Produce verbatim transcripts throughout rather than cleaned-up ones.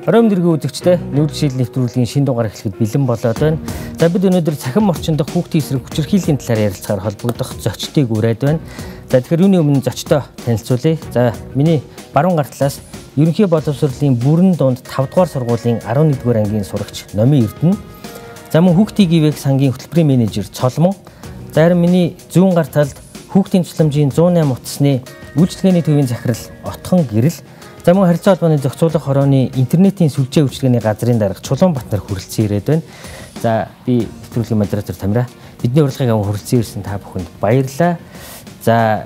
Оройн дэргийн үзэгчтэй нүүдэлшил нэвтрүүлгийн шинэ дугаар эхлэхэд бэлэн болоод байна. За бид өнөөдөр цахим орчинд хүүхдийн эсрэг хүчирхийллийн талаар ярилцахаар холбогдох зочдыг ураад байна. За тэгэхээр үүний өмнө зочдоо танилцуулъя. За миний баруун гар талаас ерөнхий боловсролын бүрэн дунд тавд дугаар сургуулийн арван нэгдүгээр ангийн сурагч Номын Эрдэнэ. За мөн хүүхдийн ГИВ-ийн сангийн хөтөлбөрийн менежер Цолмон. За харин миний зүүн гар талд хүүхдийн тусламжийн зуун найман утасны үйлчлэгээний төвийн захирал Отхон Гэрэл. За мөн харилцаа холбооны зохицуулах хорооны интернетийн сүлжээ үйлчилгээний газрын дарга Чулуун Батнар хүрэлцэн ирээд байна. За би нэвтрүүлгийн модератор Тамира. Бидний урилгыг аван хүрэлцэн ирсэн та бүхэнд баярлалаа. За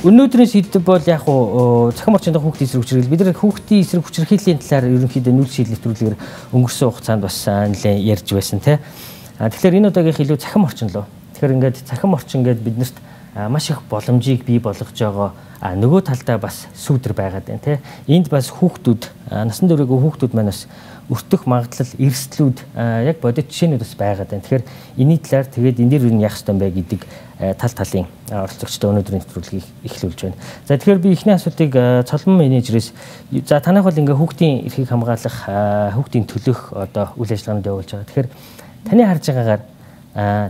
өнөөдрийн сэдэв бол яг уу цахим орчинд хүүхдийн эсрэг хүчирхийлэл. Бид нар хүүхдийн эсрэг хүчирхийллийн талаар ерөнхийдөө нүүдэлшил нэвтрүүлгээр өнгөрсөн хугацаанд бас нэлээд ярьж байсан тийм. Тэгэхээр энэ удаагийнх илүү цахим орчин лөө. Тэгэхээр ингээд цахим орчин гэдэг биднэрт маш их боломжийг бий болгож байгаа. А нөгөө талдаа бас сүүдэр байгаад байна тий. Энд бас хүүхдүүд насан туршийн хүүхдүүд маань бас өртөх магадлал эрсдлүүд яг бодит жишээнүүд бас байгаад байна. Тэгэхээр энэний талаар тэгээд энэ дэр юу яах ёстой юм бэ гэдэг тал талын оролцогчтой өнөөдрийн нэвтрүүлгийг эхлүүлж байна. За тэгэхээр би эхний асуултыг Цолмон менежерээс за танайх бол ингээ хүүхдийн эрхийг хамгаалах хүүхдийн төлөх одоо үйл ажиллагаанд явуулж байгаа. Тэгэхээр таны харж байгаагаар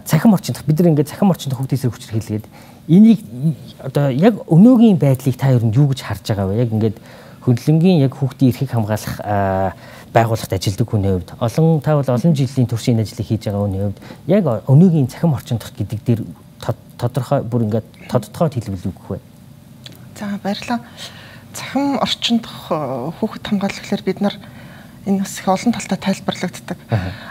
цахим орчинд бид нар ингээ цахим орчинд хүүхдийн эсрэг хүчирхийлгээд энийг одоо яг өнөөгийн байдлыг та ер нь юу гэж харж байгаа вэ? Яг ингээд хөндлөнгийн яг хүүхдийн эрхийг хамгаалах байгууллагт ажилладаг хүний хувьд олон та бол олон жилийн туршийн ажлыг хийж байгаа хүний хувьд яг өнөөгийн цахим орчиндх гэдэг дээр тодорхой бүр ингээд тодтогоод хэлбэл үгэх вэ? За баярлалаа. Цахим орчиндх хүүхэд хамгаалах гэхээр бид нар энэ бас их олон талтай тайлбарлагддаг.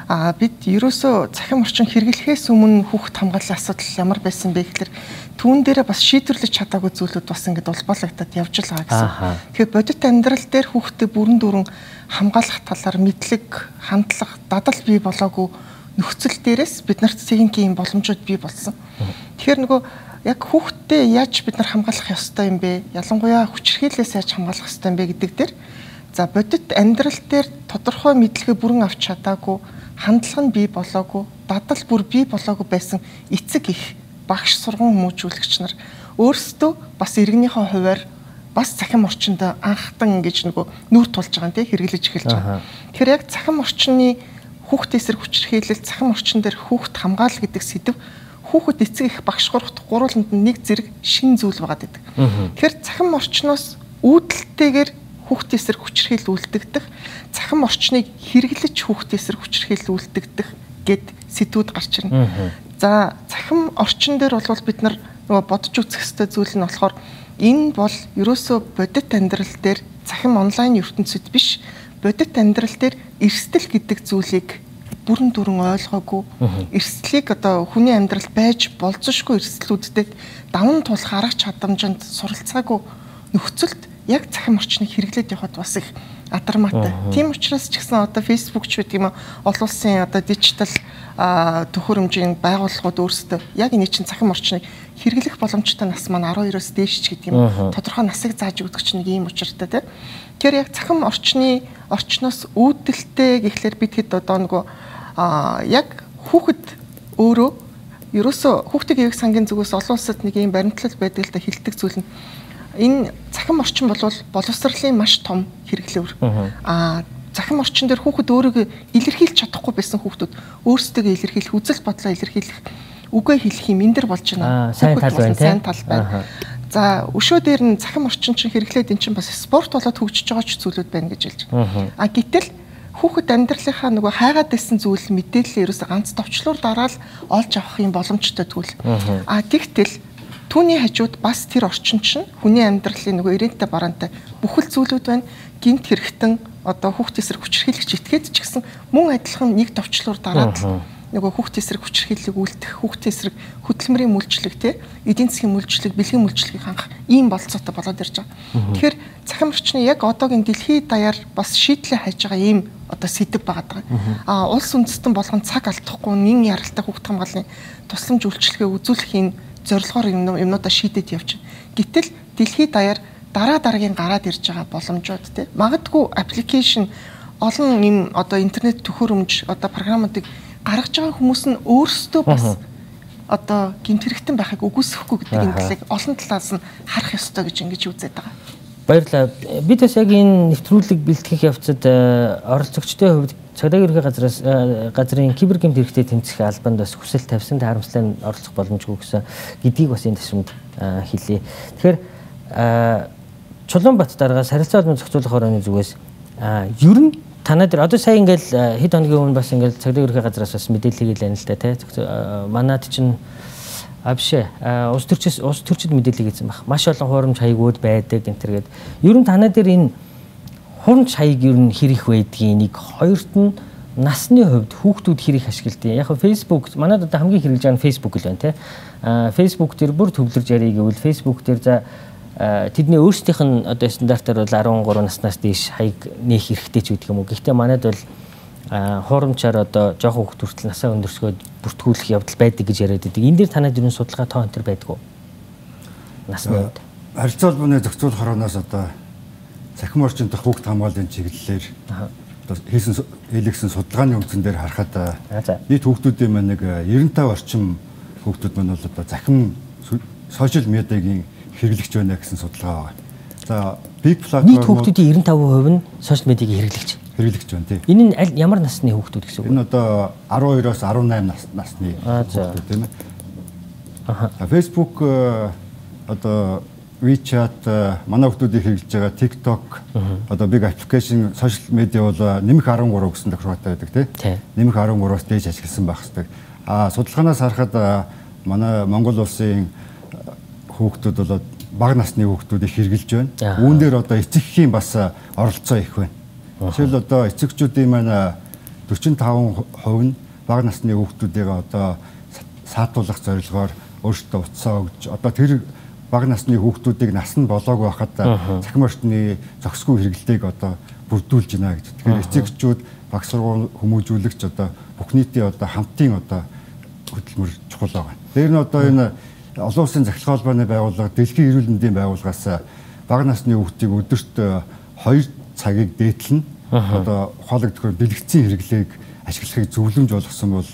Аа бид ерөөсөө цахим орчин хэрэглэхээс өмнө хүүхэд хамгааллын асуудал ямар байсан бэ гэхээр түүн дээрээ бас шийдвэрлэж чадаагүй зүйлүүд бас ингээд улбалагдаад явж л байгаа гэсэн. Тэгэхээр бодит амьдрал дээр хүүхдэд бүрэн дүүрэн хамгаалах талаар мэдлэг, хандлага, дадал бий болоогүй нөхцөл дээрээс бид нарт цэгийн боломжууд бий болсон. Тэгэхээр нөгөө яг хүүхдэд яаж бид нар хамгаалах ёстой юм бэ? Ялангуяа хүчирхийллээс яаж хамгаалах ёстой юм бэ гэдэг дээр за бодит амьдрал дээр тодорхой мэдлэгээ бүрэн авч чадаагүй, хандлага нь бий болоогүй, дадал бүр бий болоогүй байсан эцэг их багш сургууль хүмүүжүүлэгч нар өөрсдөө бас иргэнийхээ хуваар бас цахим орчинд анхтан ингэж нөгөө нүүр тулж байгаа нэ хэрэглэж эхэлж байгаа. Тэгэхээр яг цахим орчны хүүхдийн эсрэг хүчирхийлэл, цахим орчин дээр хүүхд хамгаал гэдэг сэдв хүүхэд эцэг их багш гурууланд нэг зэрэг шин зүйл байгаад байдаг. Тэгэхээр цахим орчноос үүдэлтэйгээр хүүхдийн эсрэг хүчирхийлэл үлдэгдэх, цахим орчныг хэрэглэж хүүхдийн эсрэг хүчирхийлэл үлдэгдэх гэд сэдвүүд гарч ирнэ. За цахим орчин дээр бол бид нар нөгөө бодож үзэх ёстой зүйл нь болохоор энэ бол ерөөсөө бодит амьдрал дээр цахим онлайн ертөнцид биш, бодит амьдрал дээр эрсдэл гэдэг зүйлийг бүрэн дүрэн ойлгоогүй, эрсдлийг одоо хүний амьдрал байж болзошгүй эрсдлүүдтэй даван тулах арга чадамжинд суралцаагүй нөхцөлд яг цахим орчныг хэрэглээд явахад бас их адармаатай. Тийм учраас ч гэсэн одоо Facebook ч гэдэг юм олон улсын одоо дижитал төхөөрөмжийн байгууллагууд өөрсдөө яг энэ чинь цахим орчныг хэрэглэх боломжтой нас маань арван хоёроос дээш ч гэдэг юм тодорхой насыг зааж өгдөг чинь нэг ийм учиртай тийм. Тэгэхээр яг цахим орчны орчноос үүдэлтэй гэхлээр бид хэд одоо нөгөө яг хүүхэд өөрөө ерөөсөө хүүхдийн ГИВ сангийн зүгээс олон улсад нэг ийм баримтлал байдаг л да хилдэг зүйл нь энэ цахим орчин бол боловсролын маш том хэрэглээвэр. Аа цахим орчин дээр хүүхэд өөрийгөө илэрхийлж чадахгүй байсан хүүхдүүд өөрсдөө илэрхийлэх, үзэл бодлоо илэрхийлэх, үгээ хэлэх юм энэ дэр болж байна. Сайн тал байна, сайн тал байна. За өшөө дээр нь цахим орчин чинь хэрэглээд эн чинь бас спорт болоод хөгжиж байгаа ч зүйлүүд байна гэж хэлж байна. А гэтэл хүүхэд амьдралынхаа нөгөө хайгаад байсан зүйл мэдээлэл ерөөсө ганц товчлуур дараал олж авах юм боломжтой зүйл. А тэгтэл түүний хажууд бас тэр орчин чинь хүний амьдралын нөгөө ирээдтэй бараантай бүхэл зүйлүүд байна. Гинт хэрэгтэн одоо хүүхдийн эсрэг хүчирхийлэгч итгээд ч гэсэн мөн адилхан нэг товчлуур дараад нөгөө хүүхдийн эсрэг хүчирхийллийг үлдэх, хүүхдийн эсрэг хөдөлмөрийн мүлжлэг те эдийн засгийн мүлжлэг, бэлгийн мүлжлэгийг хангах ийм болцоотой болоод ирж байгаа. Тэгэхээр цахим орчны яг одоогийн дэлхийд даяар бас шийдлээ хайж байгаа ийм одоо сэдэв байгаа. А улс үндэстэн болгон цаг алдахгүй нин яралтай хүүхд хамгааллын тусламж үйлчилгээ үзүүлэх энэ зорилгоор юмнуудаа шийдээд явж байна. Гэтэл дэлхийд даяар дараа дараагийн гараад ирж байгаа боломжууд те магадгүй аппликейшн олон юм одоо интернет төхөөрөмж одоо програмуудыг гаргаж байгаа хүмүүс нь өөрсдөө бас одоо гэмт хэрэгтэн байхыг үгүйсэхгүй гэдэг энэ талыг олон талаас нь харах ёстой гэж ингэж үзээд байгаа. Баярлалаа. Бид бас яг энэ нэвтрүүлэг бэлтгэх явцад оролцогчдын хувьд цагдаагийн ерхий газраас газрын кибергэмт хэрэгтэй тэмцэх албанд бас хүсэл тавьсан харамслан оролцох боломжгүй гэсэн гэдгийг бас энэ ташрамд хэлье. Тэгэхээр Чулуунбат дараагаас харилцаа холбоон зохицуулах хорооны зүгээс ер нь танаа дээр одоо сая ингээл хэд хоногийн өмнө бас ингээл цагдаагийн ерхий газраас бас мэдээлэл хийлээ л да тий. Манайд чинь а биш ээ улс төрчөөс улс төрчид мэдээлэл хийсэн баг. Маш олон хуурамч хаягууд байдаг гэнтэргээд ер нь танаа дээр энэ хурамч хаяг ер нь хэрэг байдгийг нэг хоёрт нь насны хувьд хүүхдүүд хэрэг ашигладаг. Яг нь Facebook манайд одоо хамгийн хэрэглэж байгаа нь Facebook л байна тий. А Facebook дээр бүр төвлөрж ярих гэвэл Facebook дээр за тэдний өөрсдийнх нь одоо стандартаар бол арван гурав наснаас дээш хаяг нээх хэрэгтэй ч гэдэг юм уу. Гэхдээ манайд бол хуурамчаар одоо жоохон хүүхд хүртэл насаа өндөрсгөөд бүртгүүлэх явдал байдаг гэж яриад байдаг. Энэ дээр танад юу судалгаа тоо энэ төр байдаг уу? Насны үед. Харилцаа холбооны зохицуулах хорооноос одоо цахим орчин дах хүүхд хамгааллын чиглэлээр одоо хийсэн хийлгсэн судалгааны үндсэн дээр харахад нийт хүүхдүүдийн маань нэг девяносто пять орчим хүүхдүүд маань бол одоо захим сошиал медиагийн хэрэглэгч байна гэсэн судалгаа байна. За Big Platform нийт хүүхдүүдийн девяносто пять хувь нь сошиал медиагийн хэрэглэгч. Хэрэглэгч байна тий. Энэ нь аль ямар насны хүүхдүүд гэсэн үг вэ? Энэ одоо арван хоёроос арван найман насны хүүхдүүд тийм ээ. Аха. Facebook одоо WeChat манай хүүхдүүдийг хэрэглэж байгаа TikTok одоо big application social media бол нэмэх арван гурав гэсэн тохиолдолтой байдаг тий. Нэмэх арван гураваас дээш ашигласан байх хэвээр. А судалгаанаас харахад манай Монгол улсын хүүхдүүд бол бага насны хүүхдүүдийг хэрэглэж байна. Үүн дээр одоо эцэгхийн бас оролцоо их байна. Жишээл одоо эцэгчүүдийн маань дөрвөн таван хувь нь бага насны хүүхдүүдийг одоо саатуулах зорилгоор өөрсдөө утсаа өгж одоо тэр бага насны хүүхдүүдийг нас нь болоог байхад цахим орчны зохисгүй хэрэглэдэг одоо бүрдүүлж байна гэж. Тэгэхээр эцэгчүүд баг сургууль хүмүүжүүлэгч одоо бүх нийтийн одоо хамтын одоо хөтөлмөр чухал байгаа. Дээр нь одоо энэ олон улсын захирал холбооны байгууллага дэлхийн эрүүл мэндийн байгууллагаас бага насны хүүхдийг өдөрт хоёр цагийг дээдлэн одоо ухаалаг төхөөр бэлгэцийн хэрэглээг ашиглахыг зөвлөмж болгосон бол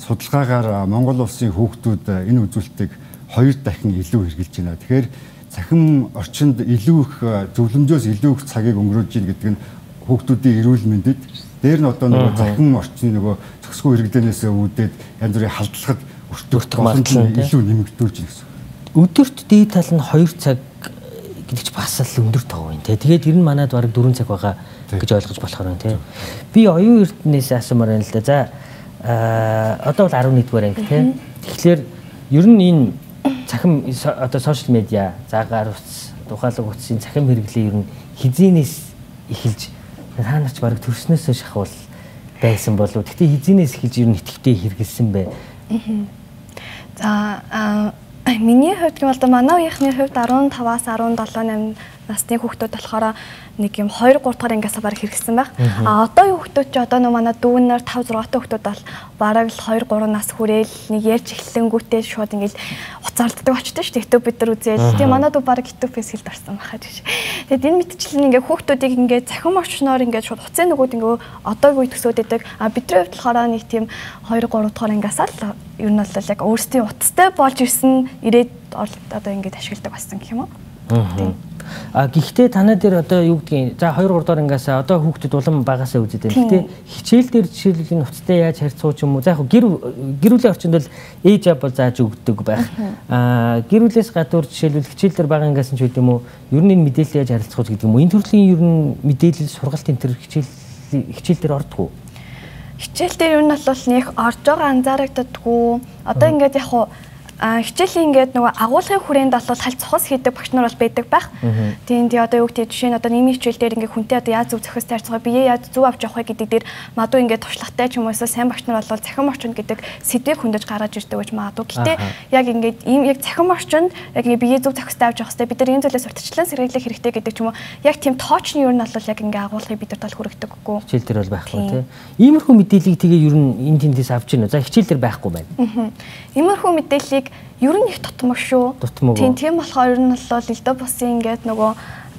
судалгаагаар Монгол улсын хүүхдүүд энэ үзүүлэлтийг хоёр дахин илүү хэрэгжилж байна. Тэгэхээр цахим орчинд илүү их зөвлөмжөөс илүү их цагийг өнгөрүүлж ийн гэдэг нь хүүхдүүдийн эрүүл мэндэд дээр нь одоо нөгөө цахим орчны нөгөө зохисгүй хэрэглэнээс үүдээд янз бүрийн халдлагад өртөх боломжийг илүү нэмэгдүүлж байна гэсэн. Өдөрт дээд тал нь хоёр цаг гэдэг чи бас л өндөр тоо юм тий. Тэгээд ер нь манайд бараг дөрвөн цаг байгаа гэж ойлгож болохоор байна тий. Би оюун эрдэнээс асуумаар байна л да. За одоо бол арван нэгдүгээр анги тий. Тэгэхээр ер нь энэ цахим одоо сошиал медиа, заагаар утас, тухайлаг утасын цахим хэрэглээ ер нь хизээнээс эхэлж та нар ч бараг төрснөөсөө шахвал байсан болов. Гэхдээ хизээнээс эхэлж ер нь итгэвтэй хэрэгэлсэн бай. За миний хувьд бол манай үеийнхний хувьд арван таваас арван долоо найман насны хүүхдүүд болохоор нэг юм хоёр гурав дахь ангиасаа бараг хэрэгсэн байх. А одоо юу хүүхдүүд ч одоо нөө манай дүүнээр тавь зургатай хүүхдүүд бол бараг л хоёр гурав нас хүрээл нэг ярьж эхлэнгүүтээ шууд ингээл уцаалддаг очтой шүү дээ. YouTube бид нар үзээл. Тэгээ манай дүү бараг YouTube-ээс хэл дарсан байхаа гэж. Тэгээд энэ мэтчлэн ингээ хүүхдүүдийг ингээ цахим орчноор ингээ шууд уцын нөгөөд ингээ одоогийн үе төсөөд идэг. А бидний хувьд болохоор нэг тийм хоёр гурав дахь ангиасаа л ер нь бол яг өөрсдийн утастай болж ирсэн ирээд одоо ингээд ашигладаг болсон гэх юм уу. А гэхдээ танаа дээр одоо юу гэдгийг за хоёр гурав дахь ангиас одоо хүүхдэд улам багасаа үзээд байна. Гэхдээ хичээл дээр жишээлбэл энэ уцтай яаж харьцуу ч юм уу. За яг гэр гэр бүлийн орчинд бол ээж аав бол зааж өгдөг байх. А гэр бүлээс гадуур жишээлбэл хичээл дээр бага ангиас нь ч гэдэг юм уу. Ер нь энэ мэдээлэл яаж харилцах гэдэг юм уу. Энэ төрлийн ер нь мэдээлэл сургалт энэ төр хичээл хичээл дээр ордог уу? Хичээл дээр ер нь бол нэг орж байгаа анзаарагддаггүй. Одоо ингээд яг хуу хичээлийн ингээд нөгөө агуулгын хүрээнд бол халь цохос хийдэг багш нар бол байдаг байх. Тийм тий одоо юу гэдэг жишээ нь одоо нийгмийн хичээл дээр ингээд хүнтэй одоо яаж зөв зохиос тарьцгаа бие яаж зөв авч явах вэ гэдэг дээр мадуу ингээд туршлагатай ч юм уу эсвэл сайн багш нар бол цахим орчинд гэдэг сэдвийг хүндэж гаргаж ирдэг гэж магадгүй. Гэтэ яг ингээд ийм яг цахим орчинд яг ингээд бие зөв зохиостой авч явах хэрэгтэй. Бид нар энэ зүйлээс урьдчилан сэргийлэх хэрэгтэй гэдэг ч юм уу. Яг тийм тоочны юу нь бол яг ингээд агуулгыг бид нар тал хүргэдэг үгүй. Хичээл дээр бол байхгүй тий. Иймэрхүү мэдээллийг тэгээ ер нь энэ тэндээс авч гинэ. За хичээл дээр байхгүй байна. Иймэрхүү мэдээллийг ер нь их тутмаг шүү. Тийм тийм болохоор ер нь бол элдв бусын ингээд нөгөө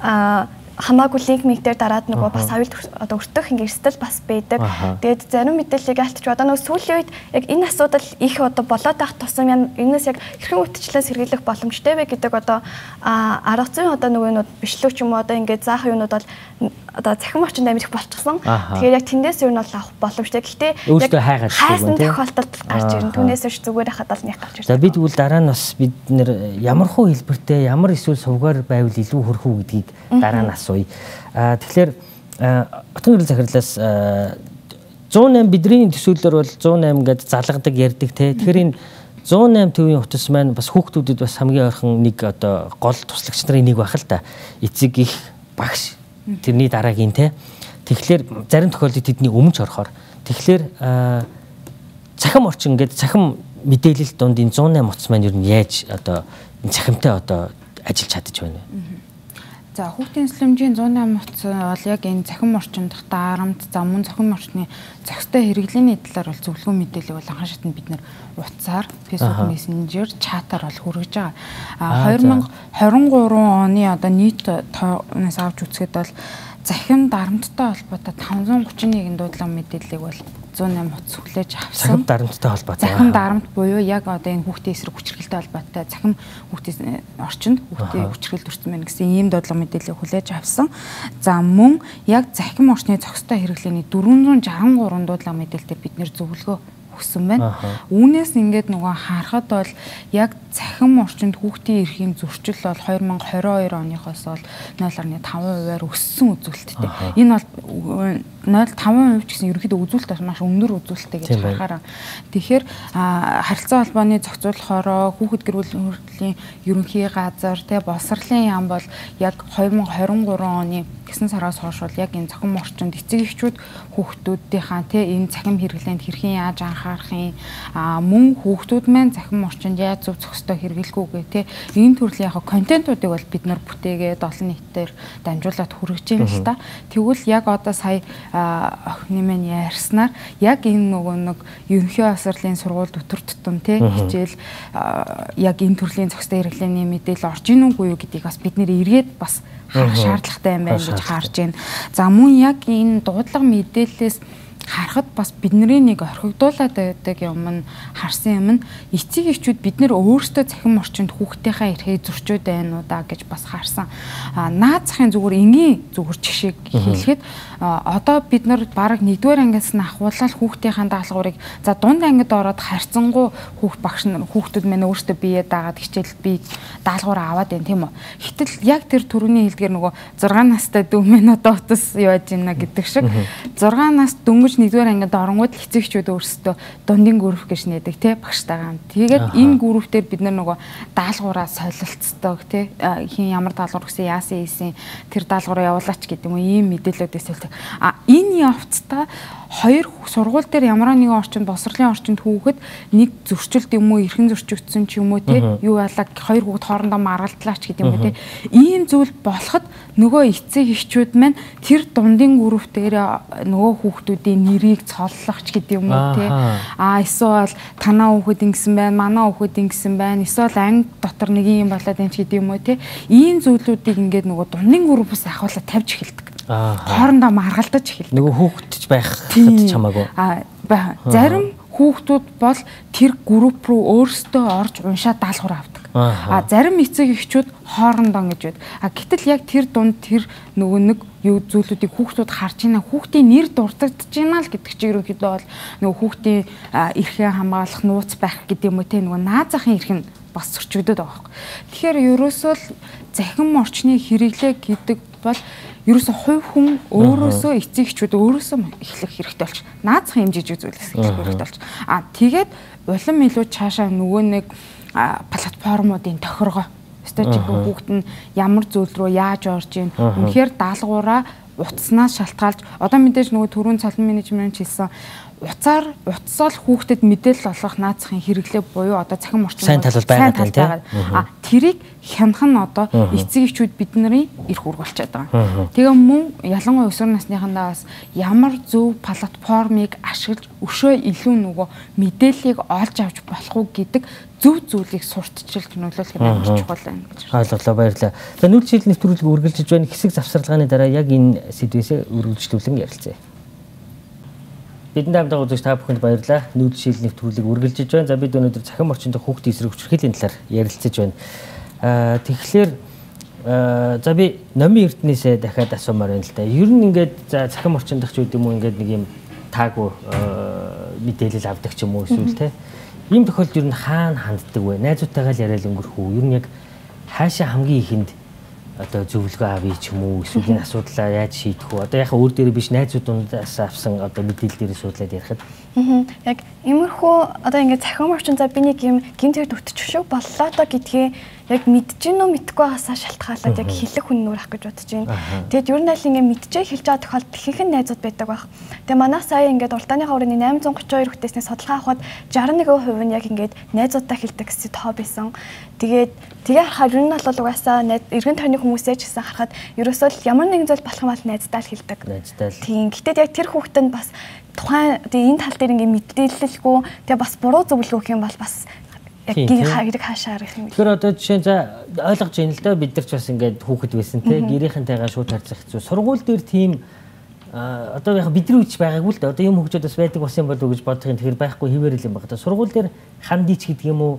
а хамаагүй линк миг дээр дараад нөгөө бас аюул одоо өртөх ингээ эрсдэл бас байдаг. Тэгээд зарим мэдээллийг ялтч одоо нөгөө сүүлийн үед яг энэ асуудал их одоо болоод байх тусам энэс яг хэрхэн үтчлээс сэргийлэх боломжтой вэ гэдэг одоо арга зүйн одоо нөгөө бичлэг ч юм уу одоо ингээ заах юунууд бол одоо цахим орчинд амирх болчихсон. Тэгэхээр яг тэндээс юу нь бол авах боломжтой. Гэхдээ яг хайсан тохиолдолд гарч ирнэ. Түүнээс ш зүгээр хахад л нэг гарч ирнэ. За бид тэгвэл дараа нь бас бид нэр ямар хуу хэлбэртэй ямар эсвэл сувгаар байвал илүү хөрөх үү гэдгийг дараа нь асууя. Аа тэгэхээр Хотын гэрэл захирлаас зуун найман бидний төсөөллөөр бол зуун найман гэдэг залгадаг ярьдаг те. Тэгэхээр энэ зуун найман төвийн утас маань бас хүүхдүүдэд бас хамгийн ойрхон нэг одоо гол туслагч нарын нэг байх л та. Эцэг их багш тэрний дараагийн те. Тэгэхээр зарим тохиолдолд тэдний өмнөж орохоор тэгэхээр цахим орчин гэдэг цахим мэдээлэл донд энэ зуун найман утас маань ер нь яаж одоо цахимтай одоо ажиллаж чадчих байна вэ? За хүүхдийн эслэмжийн зуун найман утас бол яг энэ цахим орчинд дарамт за мөн цахим орчны зохистой хэрэглээний талаар бол зөвлөгөө мэдээлэл бол анхан шатнд бид нэр утсаар Facebook Messenger чатаар бол хүргэж байгаа. А две тысячи двадцать три оны одоо нийт тоонаас авч үзэхэд бол захим дарамттай холбоотой таван зуун гучин нэгэн дуудлага мэдээллийг бол зуун найман утас хүлээж авсан. Захим дарамттай холбоотой. Захим дарамт буюу яг одоо энэ хүүхдийн эсрэг хүчирхэлтэй холбоотой захим хүүхдийн орчинд хүүхдийн хүчирхэлд өртсөн байна гэсэн ийм дуудлага мэдээллийг хүлээж авсан. За мөн яг захим орчны зохистой хэрэглээний дөрвөн зуун шестьдесят три дуудлага мэдээлэлтэй бид нэр зөвлөгөө өгсөн байна. Үүнээс ингээд нөгөө харахад бол яг захим орчинд хүүхдийн эрхийн зөрчил бол две тысячи двадцать two оныхоос бол нөл фаصلة five хувиар өссөн үзүүлэлттэй. Энэ бол нөл фаصلة five хувь ч гэсэн ерөнхийдөө үзүүлэлт бас маш өндөр үзүүлэлттэй гэж харахаараа. Тэгэхээр харилцаа холбооны зохицуулахаараа хүүхэд гэр бүл хөрөлтлийн ерөнхий газар тэ боловсролын яам бол яг две тысячи двадцать three оны гэсэн сараас хойш бол яг энэ захим орчинд эцэг эхчүүд хүүхдүүдийнхаа тэ энэ захим хэрэглээнд хэрхэн яаж анхаарахын а мөн хүүхдүүд маань захим орчинд яаж зөв зохистой хэрэглэхүүгээ тэ энэ төрлийн яг контентуудыг бол бид нар бүтээгээд олон нийтээр дамжуулаад хүргэж байна л та. Тэгвэл яг одоо сая охины маань ярьснаар яг энэ нөгөө нэг ерөнхий боловсролын сургууль өтөр тутам тэ хичээл яг энэ төрлийн зохистой хэрэглээний мэдээлэл орж ийн үгүй юу гэдгийг бас бид нэр эргээд бас харах шаардлагатай юм байна гэж харж байна. За мөн яг энэ дуудлага мэдээллээс харахад бас бидний нэг орхигдуулаад байдаг юм нь харсан юм нь эцэг эхчүүд бид нэр өөрсдөө цахим орчинд хүүхдийнхаа эрхээ зөрчөөд байна уу да гэж бас харсан. А наад захын зүгээр энгийн зүгээр жишээг хэлэхэд одоо бид нар бараг нэгдүгээр ангиас нь ахуулаад хүүхдийнхаа даалгаврыг за дунд ангид ороод харьцангуй хүүхд багш нар хүүхдүүд мань өөрсдөө бие даагаад хичээл би даалгавраа аваад байна тийм үү. Гэтэл яг тэр төрөний хэлдгээр нөгөө зургаан настай дүү мэн одоо утас юу яаж ийна гэдэг шиг зургаан нас дөнгөж нэгдүгээр ангид оронгууд л эцэгчүүд өөрсдөө дундын групп гэж нээдэг тий багштайгаа. Тэгээд энэ группээр бид нар нөгөө даалгавраа солилцдог тий хин ямар даалгавар гэсэн яасан ийсэн тэр даалгавраа явуулаач гэдэг юм ийм мэдээлэлүүдээс үлдэх. А энэ явцдаа хоёр сургууль дээр ямар нэгэн орчинд боловсролын орчинд хүүхэд нэг зөрчилд юм уу эрхэн зөрчигдсөн ч юм уу тий юу ялаа хоёр хүүхэд хоорондоо маргалдлаач гэдэг юм уу тий ийм зүйл болоход нөгөө эцэг эхчүүд маань тэр дундын групп дээр нөгөө хүүхдүүдийн нэрийг цоллох ч гэдэг юм уу тий а эсвэл танаа хүүхэд ингэсэн байна манаа хүүхэд ингэсэн байна эсвэл анги дотор нэг юм болоод юм ч гэдэг юм уу тий ийм зүйлүүдийг ингээд нөгөө дундын группээс ахуулаад тавьж эхэлдэг. Хоорондоо маргалдаж эхэлдэг. Нөгөө хүүхдч байх хэд чамаагүй. А зарим хүүхдүүд бол тэр групп руу өөрсдөө орж уншаад даалгавар авдаг. А зарим эцэг эхчүүд хоорондоо ингэж байд. А гэтэл яг тэр дунд тэр нөгөө нэг юу зүйлүүдийг хүүхдүүд харж ийна хүүхдийн нэр дуртагдж ийна л гэдэг чинь ерөнхийдөө бол нөгөө хүүхдийн эрхээ хамгаалах нууц байх гэдэг юм уу те нөгөө наад захын эрх нь бас зөрчигдөд байгаа юм. Тэгэхээр ерөөсөө л захим орчны хэрэглээ гэдэг бол ерөөсөө хувь хүн өөрөөсөө эцэг эхчүүд өөрөөсөө эхлэх хэрэгтэй болж наад захын хэмжиж зүйлээс эхлэх хэрэгтэй болж. А тэгээд улам илүү цаашаа нөгөө нэг платформуудын тохиргоо стратеги хүүхэд нь ямар зүйл рүү яаж орж ийн үнэхээр даалгавраа утаснаас шалтгаалж одоо мэдээж нөгөө төрийн цалин менежмент хэлсэн уцаар уцсаал хүүхдэд мэдээлэл олгох наацхийн хэрэглээ буюу одоо цахим орчин сайн тал бол байгаа тийм. А тэрийг хянах нь одоо эцэг эхчүүд бидний эрх үүрэг болчиход байгаа. Тэгээ мөн ялангуяа өсвөр насныхандаа бас ямар зөв платформыг ашиглаж өшөө илүү нөгөө мэдээллийг олж авч болох уу гэдэг зөв зүйлийг сурталчилж нөлөөлөх нь амар чухал байна гэж ойлголоо. Баярлалаа. За нүүр чиглэл нэвтрүүлэг үргэлжлэж байна. Хэсэг завсарлагын дараа яг энэ сэдвээс үргэлжлүүлэн ярилцъя. Бидний хамтдаа үзэж та бүхэнд баярлалаа. Нүүр чиглэл нэвтрүүлэг үргэлжлэж байна. За бид өнөөдөр цахим орчин дэх хүүхдийн эсрэг хүчирхийллийн талаар ярилцаж байна. Аа тэгэхээр за би номын эрдэнээсээ дахиад асуумаар байна л да. Ер нь ингээд за цахим орчин дэх ч үгүй юм уу ингээд нэг юм таагүй мэдээлэл авдаг ч юм уу эсвэл те. Ийм тохиолдолд ер нь хаана ханддаг вэ? Найзуудтайгаа л яриад өнгөрөх үү? Ер нь яг хаашаа хамгийн ихэнд одоо зөвлөгөө авъя ч юм уу? Эсвэл энэ асуудлаа яаж шийдэх вэ? Одоо яхаа өөр дээр биш найзуудаас авсан одоо мэдээлэл дээр суудлаад ярихад. Аа. Яг иймэрхүү одоо ингээд цахим орчин за би нэг юм гинтэр өвтчих шүү боллоо доо гэдгийг яг мэдэж гин үү мэдгүй байгаасаа шалтгаалаад яг хэлэх хүн нүрэх гэж бодож байна. Тэгэд ер нь аль ингээд мэдчихээ хэлж байгаа тохиолдолд ихэнх найзууд байдаг байх. Тэгээ манай сая ингээд уртааныхаа өрөөний восемьсот тридцать two хүнтэйсний судалгаа авахад sixty-one percent нь яг ингээд найзуудтай хэлдэг гэсэн тоо байсан. Тэгээд тэгээ харахаар ер нь бол угаасаа эргэн тойрны хүмүүсээ ч гэсэн харахад ерөөсөө л ямар нэгэн зүйл болох юм бол найздаа л хэлдэг. Найздаа л. Тийм. Гэтэл яг тэр хүүхэд нь бас тухайн тэгээ энэ тал дээр ингээд мэдээлэлгүй тэгээ бас буруу зөвлөгөө өгөх юм бол бас яг гин хайрыг хаашаа арих юм. Тэгэхээр одоо жишээ за ойлгож байна л да бид нар ч бас ингээд хүүхэд байсан те гэрийнхэнтэйгээ шууд харьцах хэцүү. Сургууль дээр тийм одоо яг бидний үуч байгаагүй л да. Одоо юм хөгжөөд бас байдаг бас юм болов уу гэж бодох юм. Тэгэхээр байхгүй хിവэрэл юм байна. Сургууль дээр хандийч гэдэг юм уу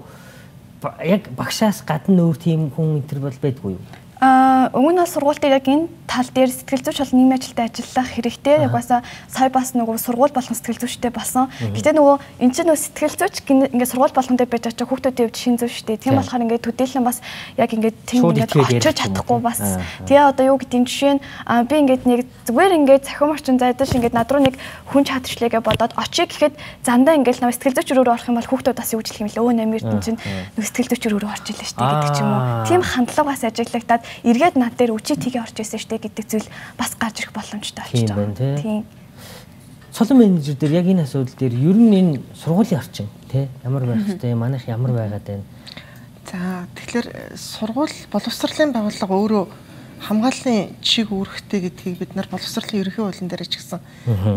яг багшаас гадна өөр тийм хүн энэ төр бол байдгүй юу? Аа өмнө нь сургууль дээр яг энэ тал дээр сэтгэл зүйч бол нийгмийн ажилтай ажиллах хэрэгтэй. Яг басаа сая бас нөгөө сургууль болгон сэтгэл зүйчтэй болсон. Гэтэ нөгөө эн чинь нөгөө сэтгэл зүйч ингээд сургууль болгон дээр байж байгаа хүүхдүүдийн хувьд шин зөв штэ. Тийм болохоор ингээд төдийлөн бас яг ингээд тийм ингээд очиж чадахгүй бас. Тэгээ одоо юу гэдэг нь жишээ нь би ингээд нэг зүгээр ингээд цахим орчин зайдаж ингээд над руу нэг хүн чадчихлээгээ бодоод очие гэхэд зандаа ингээд нөгөө сэтгэл зүйч рүү орох юм бол хүүхдүүд бас юу гэж хэлэх юм лөө нэмэр чинь чинь нөгөө сэтгэл зүйч рүү орж илээ штэ гэдэг ч юм уу. Тийм хандлага бас ажиглагдаад эргээд над дээр үчи тгээ орж ирсэн штэ гэдэг зүйл бас гарч ирэх боломжтой болчихж байгаа. Тийм. Цолон менежер дээр яг энэ асуудал дээр ер нь энэ сургуулийн орчин тий ямар байх хэвтэй манайх ямар байгаад байна. За тэгэхээр сургууль боловсролын байгууллага өөрөө хамгааллын чиг үүрэгтэй гэдгийг бид нар боловсролын ерөнхий хуулийн дээр ч гэсэн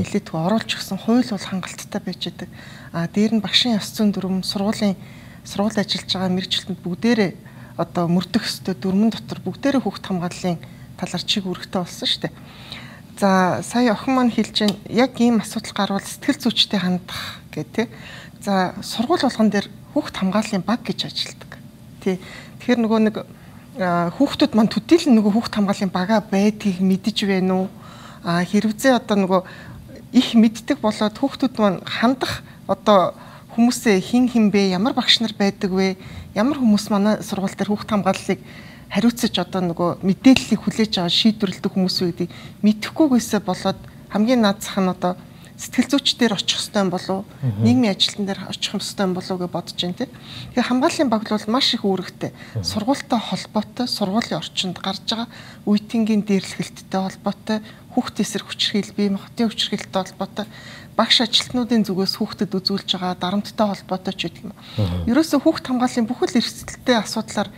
нэлээдгүй оруулж өгсөн. Хууль бол хангалттай байж байгаа. А дээр нь багшийн ёс зүйн дүрм сургуулийн сургууль ажиллаж байгаа мэргэжилтэнд бүгдээрээ одоо мөрдөх ёстой дүрмэн дотор бүгдээрээ хүүхд хамгааллын талаар чиг үүрэгтэй болсон шүү дээ. За сая охин маань хэлж байна яг ийм асуудал гарвал сэтгэл зүйчтэй хандах гэх тээ. За сургууль болгон дээр хүүхд хамгааллын баг гэж ажилладаг. Тий. Тэгэхээр нөгөө нэг хүүхдүүд маань төдийлөн нөгөө хүүхд хамгааллын бага байдгийг мэдэж байна уу? А хэрвээ одоо нөгөө их мэддэг болоод хүүхдүүд маань хандах одоо хүмүүсээ хин хин бэ, ямар багш нар байдаг вэ? Ямар хүмүүс манай сургууль дээр хүүхд хамгааллыг хариуцаж одоо нөгөө мэдээллийг хүлээж аваад шийдвэрлэдэг хүмүүс үү гэдгийг мэдэхгүйгээсээ болоод хамгийн наацх нь одоо сэтгэл зүйчдэр очих ёстой юм болов уу? Нийгмийн ажилтан дээр очих ёстой юм болов уу гэж бодож байна тий. Тэгэхээр хамгааллын баг бол маш их үүрэгтэй. Сургуультай холбоотой, сургуулийн орчинд гарч байгаа үеийнгийн дээрлэхэлттэй холбоотой, хүүхдийн эсрэг хүчирхийлэл, бие махбодын хүчирхийлэлтэй холбоотой, багш ажилтнуудын зүгээс хүүхдэд үзүүлж байгаа дарамттай холбоотой ч гэдэг юм. Ерөөсөө хүүхд хамгааллын бүхэл эрсдэлтэй асуудлаар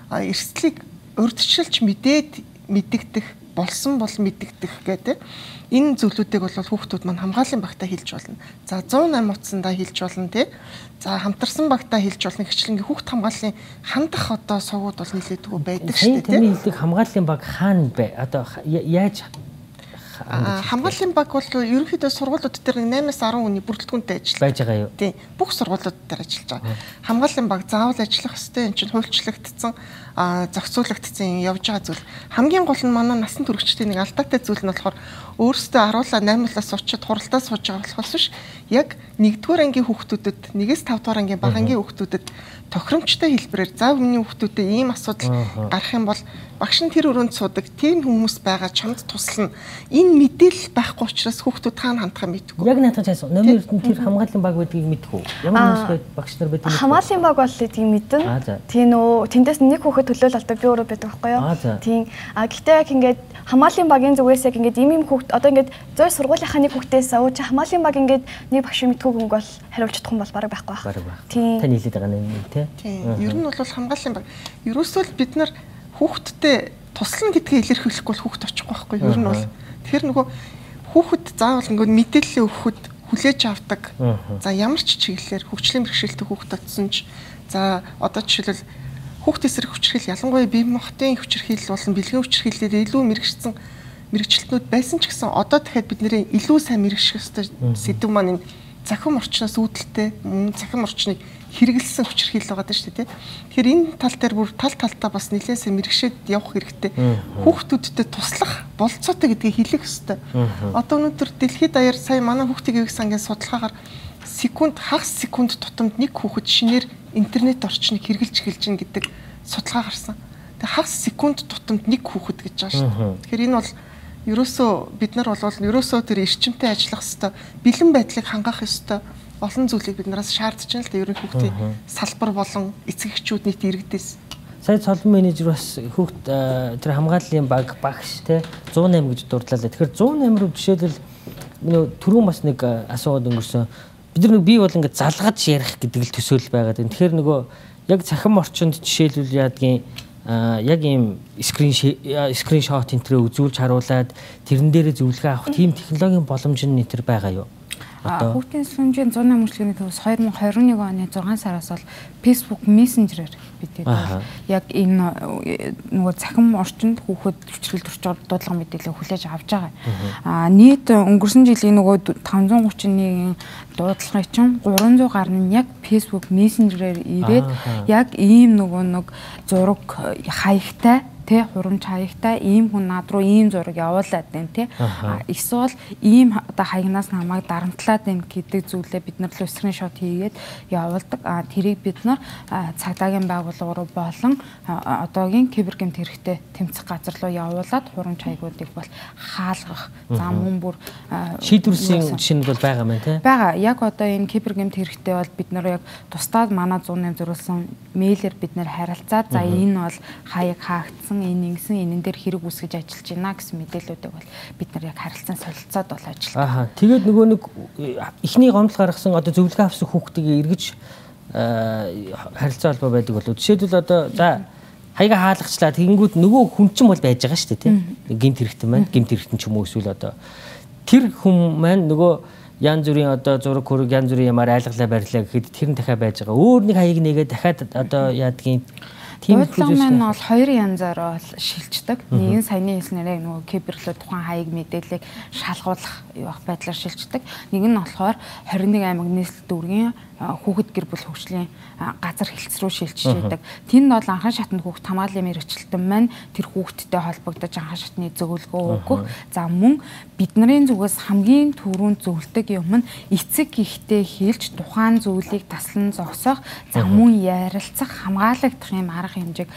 эрсдлийг урьдчилж мэдээд мэддэгдэх болсон бол мэддэгдэх гэдэг энэ зүйлүүдийг бол хүүхдүүд маань хамгааллын багтаа хэлж болно. За one oh eight утсандаа хэлж болно тий. За хамтарсан багтаа хэлж болно. Хичлэнгийн хүүхд хамгааллын хандах одоо сувгууд бол нэлээдгүй байдаг шүү дээ тий. Таны хэлдэг хамгааллын баг хаана бай? Одоо яаж хамгааллын баг бол ерөнхийдөө сургуулиуд дээр eight-аас ten хүний бүрэлдэхүүнтэй ажиллаж байж байгаа юу? Тийм. Бүх сургуулиуд дээр ажиллаж байгаа. Хамгааллын баг заавал ажиллах ёстой. Энд чинь хуульчлагдсан, зохицуулагдсан явж байгаа зүйл. Хамгийн гол нь манай насан туршидтын нэг алдаатай зүйл нь болохоор өөрсдөө аруулаа eight-аас очиж хуралдаа сууж байгаа болохоос биш. Яг нэгдүгээр ангийн хүүхдүүдэд, one-ээс five дугаар ангийн бага ангийн хүүхдүүдэд тохиромжтой хэлбэрээр за өмнө хүүхдүүдэд ийм асуудал гарах юм бол багш нь тэр өрөөнд суудаг тийм хүмүүс байгаа чамд туслана. Энэ мэдээлэл байхгүй учраас хүүхдүүд таана хандхаа мэдгүй. Яг наадах чаас номер эрдэнэ тэр хамгааллын баг байдгийг мэдгүй. Ямар хүмүүс байд багш нар байдгийг мэдгүй. Хамгааллын баг бол эдгийг мэдэн. Тийм нөө тэндээс нэг хүүхэд төлөөлөлтөд би өөрөө байдаг байхгүй юу? Тийм. А гэхдээ яг ингээд хамгааллын багийн зүгээс яг ингээд им им хүүхэд одоо ингээд зөй сургуулийнхаа нэг хүүхдээс өө чи хамгааллын баг ингээд нэг багш мэдгүй хүн бол хариулж чадах юм бол бараг байхгүй байх. Тийм. Тань хэлээд байгаа юм тий. Тийм. Ер нь бол хамгааллын баг. Ерөөсөө л бид нар хүүхдтэй туслана гэдгийг илэрхийлэхгүй бол хүүхд очихгүй байхгүй юу? Ер нь бол тэр нөгөө хүүхэд заавал ингээд мэдээлэл өгөхөд хүлээж авдаг. За ямар ч чиглэлээр хөгжлийн бэрхшээлтэй хүүхэд татсан ч за одоо жишээлбэл хүүхд эсрэг хүчирхийл ялангуяа бие махбодын хүчирхийл болон бэлгийн хүчирхийлээр илүү мэрэгчсэн мэрэгчлэтнүүд байсан ч гэсэн одоо дахиад бид нэрээ илүү сайн мэрэгших ёстой сэдв маань энэ захим орчноос үүдэлтэй мөн захим орчныг хэрэгэлсэн хүчирхийл байгаа даа шүү дээ. Тэгэхээр энэ тал дээр бүр тал талтаа бас нэлээд сайн мэрэгшээд явах хэрэгтэй. Хүүхдүүдтэй туслах болцоотой гэдгийг хэлэх ёстой. Одоо өнөөдөр дэлхийд даяар сая манай хүүхдийн ивэг сангийн судалгаагаар секунд хагас секунд тутамд нэг хүүхэд шинээр интернет орчныг хэрэглэж эхэлж гин гэдэг судалгаа гарсан. Тэгээ хагас секунд тутамд нэг хүүхэд гэж байгаа шүү дээ. Тэгэхээр энэ бол ерөөсөө бид нар бол ерөөсөө тэр эрчимтэй ажиллах ёстой, бэлэн байдлыг хангах ёстой. Олон зүйлийг бид нараас шаардж байна л да ерөн хүүхдийн салбар болон эцэг эхчүүд нийт иргэдээс. Сая цолон менежер бас хүүхд тэр хамгааллын баг багш те зуун осем гэж дурдлаа. Тэгэхээр зуун осем руу жишээлбэл нөө түрүүн бас нэг асуугаад өнгөрсөн. Бид нар нэг бий бол ингээд залгаж ярих гэдэг л төсөөл байгаад байна. Тэгэхээр нөгөө яг цахим орчинд жишээлбэл яадгийн яг ийм скрин скриншот энтрээ үзүүлж харуулад тэрэн дээрээ зөвлөгөө авах тийм технологийн боломж нь нэтер байгаа юу? Хүүхдийн сүнжийн зуун намжлагын төвс two thousand twenty-one оны зургаан сараас бол Facebook Messenger-ээр бид яг энэ нөгөө цахим орчинд хүүхэд хүчрэл төрч дуудлага мэдээлэл хүлээж авч байгаа. Аа нийт өнгөрсөн жилийн нөгөө five hundred thirty-one дуудлагын чинь three hundred гаруй нь яг Facebook Messenger-ээр ирээд яг ийм нөгөө нэг зураг хаягтай тэ хурамч хаягтай ийм хүн над руу ийм зураг явуулаад байна тэ эсвэл ийм одоо хаягнаас намайг дарамтлаад байна гэдэг зүйлээ бид нар л скриншот хийгээд явуулдаг. А тэрийг бид нар цагдаагийн байгууллага руу болон одоогийн кибергэмт хэрэгтэй тэмцэх газар руу явуулаад хурамч хаягуудыг бол хаалгах зам мөн бүр шийдвэрлэсэн жишээ нь бол байгаа мэн тэ. Бага яг одоо энэ кибергэмт хэрэгтэй бол бид нар яг тусдаад манай one oh eight зориулсан мэйлэр бид нар харилцаад за энэ бол хаяг хаагдсан энэ ингэсэн энэн дээр хэрэг үүсгэж ажиллаж байна гэсэн мэдээллүүдийг бол бид нар яг харилцан солилцоод бол ажилладаг. Аа тэгээд нөгөө нэг эхний гомдол гаргасан одоо зөвлөгөө авсан хүүхдийг эргэж харилцаа холбоо байдаг болов. Жишээлбэл одоо за хаяга хаалгачлаа тэгэнгүүт нөгөө хүн чинь бол байж байгаа шүү дээ тийм. Гэмт хэрэгтэн маань гэмт хэрэгтэн ч юм уу эсвэл одоо тэр хүн маань нөгөө янз бүрийн одоо зураг хөрөг янз бүрийн ямар айлгалаа барьлаа гэхэд тэр нь дахиад байж байгаа. Өөр нэг хаяг нэгээд дахиад одоо яадгийн тийм үйлчлэл маань бол хоёр янзаар бол шилждэг. Нэг нь саяны хэлснээрээ нөгөө киберлөө тухайн хаяг мэдээллийг шалгуулах явах байдлаар шилждэг. Нэг нь болохоор twenty-one аймаг нийслэл дүүргийн хүүхэд гэр бүл хөгжлийн газар хэлтс рүү шилжиж байдаг. Тэнд бол анхан шатнд хүүхэд хамгааллын мэргэжилтэн маань тэр хүүхэдтэй холбогдож анхан шатны зөвлөгөө өгөх. За мөн бидний зүгээс хамгийн түрүүнд зөвлөдөг юм нь эцэг ихтэй хэлж тухайн зүйлийг таслан зогсоох, за мөн ярилцах, хамгаалагдах юм арга хэмжээг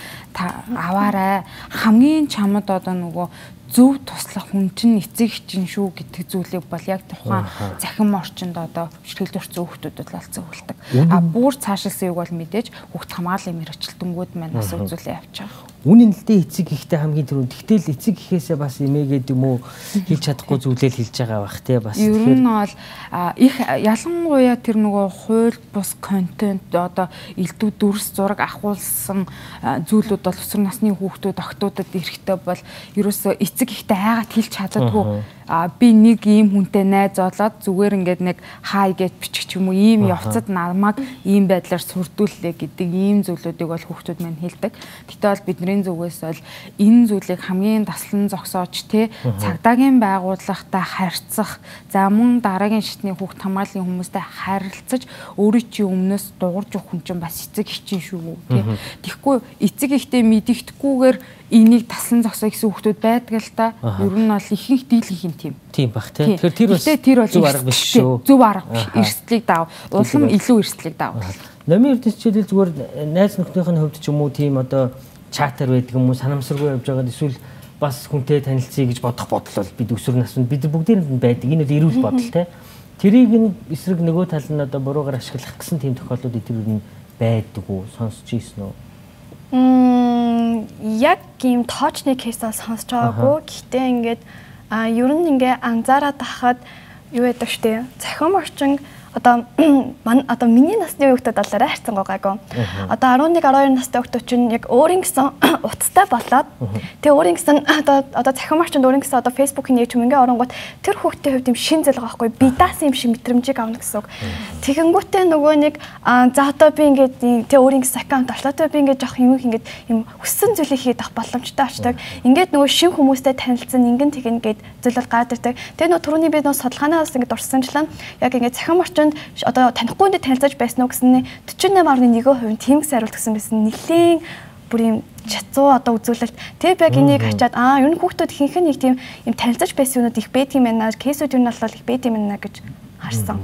аваарай. Хамгийн чамд одоо нөгөө зөв туслах хүн чинь эцэг чинь шүү гэдэг зүйлийг бол яг тухайн захим орчинд одоо хүчрхийлэл төрсэн хүүхдүүдэд бол зөвлөдөг. А бүр цаашилсан юг бол мэдээж хүүхд хамгааллын мэргэжилтэнгүүд маань бас үзүүлээ явж байгаа. Үнэн л дээ эцэг ихтэй хамгийн түрүүнд. Тэгтэл эцэг ихээсээ бас эмээгээд юм уу хэлж чадахгүй зүйлэл хэлж байгаа бах те бас. Ер нь бол их ялангуяа тэр нөгөө хууль бус контент одоо элдв дүрс зураг ахуулсан зүйлүүд бол өсвөр насны хүүхдүүд охтуудад эрэхтэй бол ерөөсөө эцэг ихтэй хайгаад хэлж чаддаггүй. А би нэг ийм хүнтэй найз олоод зүгээр ингээд нэг хай гэж бичих юм уу ийм явцад намайг ийм байдлаар сүрдүүллээ гэдэг ийм зүйлүүдийг бол хүүхдүүд маань хэлдэг. Гэтэл бол бидний зүгээс бол энэ зүйлийг хамгийн таслан зогсоож те цагдаагийн байгууллагатай харьцах, за мөн дараагийн шатны хүүхд хамгааллын хүмүүстэй харилцаж өөрийн чинь өмнөөс дуурж өгөх хүн чинь бас эцэг их чинь шүү те. Тэгэхгүй эцэг ихтэй мэдэгдэхгүйгээр энийг таслан зогсоо гэсэн хүүхдүүд байдаг л та. Ер нь бол ихэнх дийлэнх юм тийм. Тийм бах тий. Тэгэхээр тэр бол зөв арга биш шүү. Зөв арга биш. Эрсдлийг даав. Улам илүү эрсдлийг даав. Номын эрдэнэ хичээлэл зүгээр найз нөхнийх нь хувьд ч юм уу тийм одоо чатер байдаг юм уу, санамсаргүй явж байгаа эсвэл бас хүнтэй танилцъя гэж бодох бодол бол бид өсвөр наснд бид бүгдээрээ байдаг. Энэ бол эрүүл бодол те. Тэрийг нь эсрэг нөгөө тал нь одоо буруугаар ашиглах гэсэн тийм тохиолдлууд эдгээр нь байдаг уу? Сонсч ийсэн үү? Мм яг ийм тоочны кейсээ сонсож байгаагүй. Гэхдээ ингээд а ер нь ингээ анзаараад тахад юу яадаг штэ. Цахим орчин одоо одоо миний насны хүүхдүүд бол арай хайрцангуй гайгүй. Одоо eleven twelve настай хүүхдүүд чинь яг өөрийн гэсэн утастай болоод тэгээ өөрийн гэсэн одоо одоо цахим орчинд өөрийн гэсэн одоо Facebook-ийн нэг юм ингээ оронгууд тэр хүүхдийн хувьд юм шин зэл байгаа байхгүй би даасан юм шиг мэдрэмжийг авна гэсэн үг. Тэгэнгүүтээ нөгөө нэг за одоо би ингээд тэгээ өөрийн гэсэн аккаунт очлоотой би ингээд жоох юм ингээд юм хүссэн зүйлийг хийх боломжтой очдаг. Ингээд нөгөө шин хүмүүстэй танилцсан ингэн тэгэн гээд зүйл бол гайдэрдэг. Тэгээ нөгөө түрүүний би нөгөө судалгаанаас ингээд дурсамжлаа яг ингээд цахим орчин одоо танихгүй хүнтэй танилцаж байсан уу гэсэн forty-eight point one percent тийм гэсэн хариулт гэсэн байсан. Нэлээд бүр юм чацуу одоо үзүүлэлт. Тэг яг энийг хачаад аа ер нь хүүхдүүд ихэнх нь нэг тийм юм танилцаж байсан юмуд их байдаг юм байна. Кейсүүд юу нь бол их байдаг юм байна гэж харсан.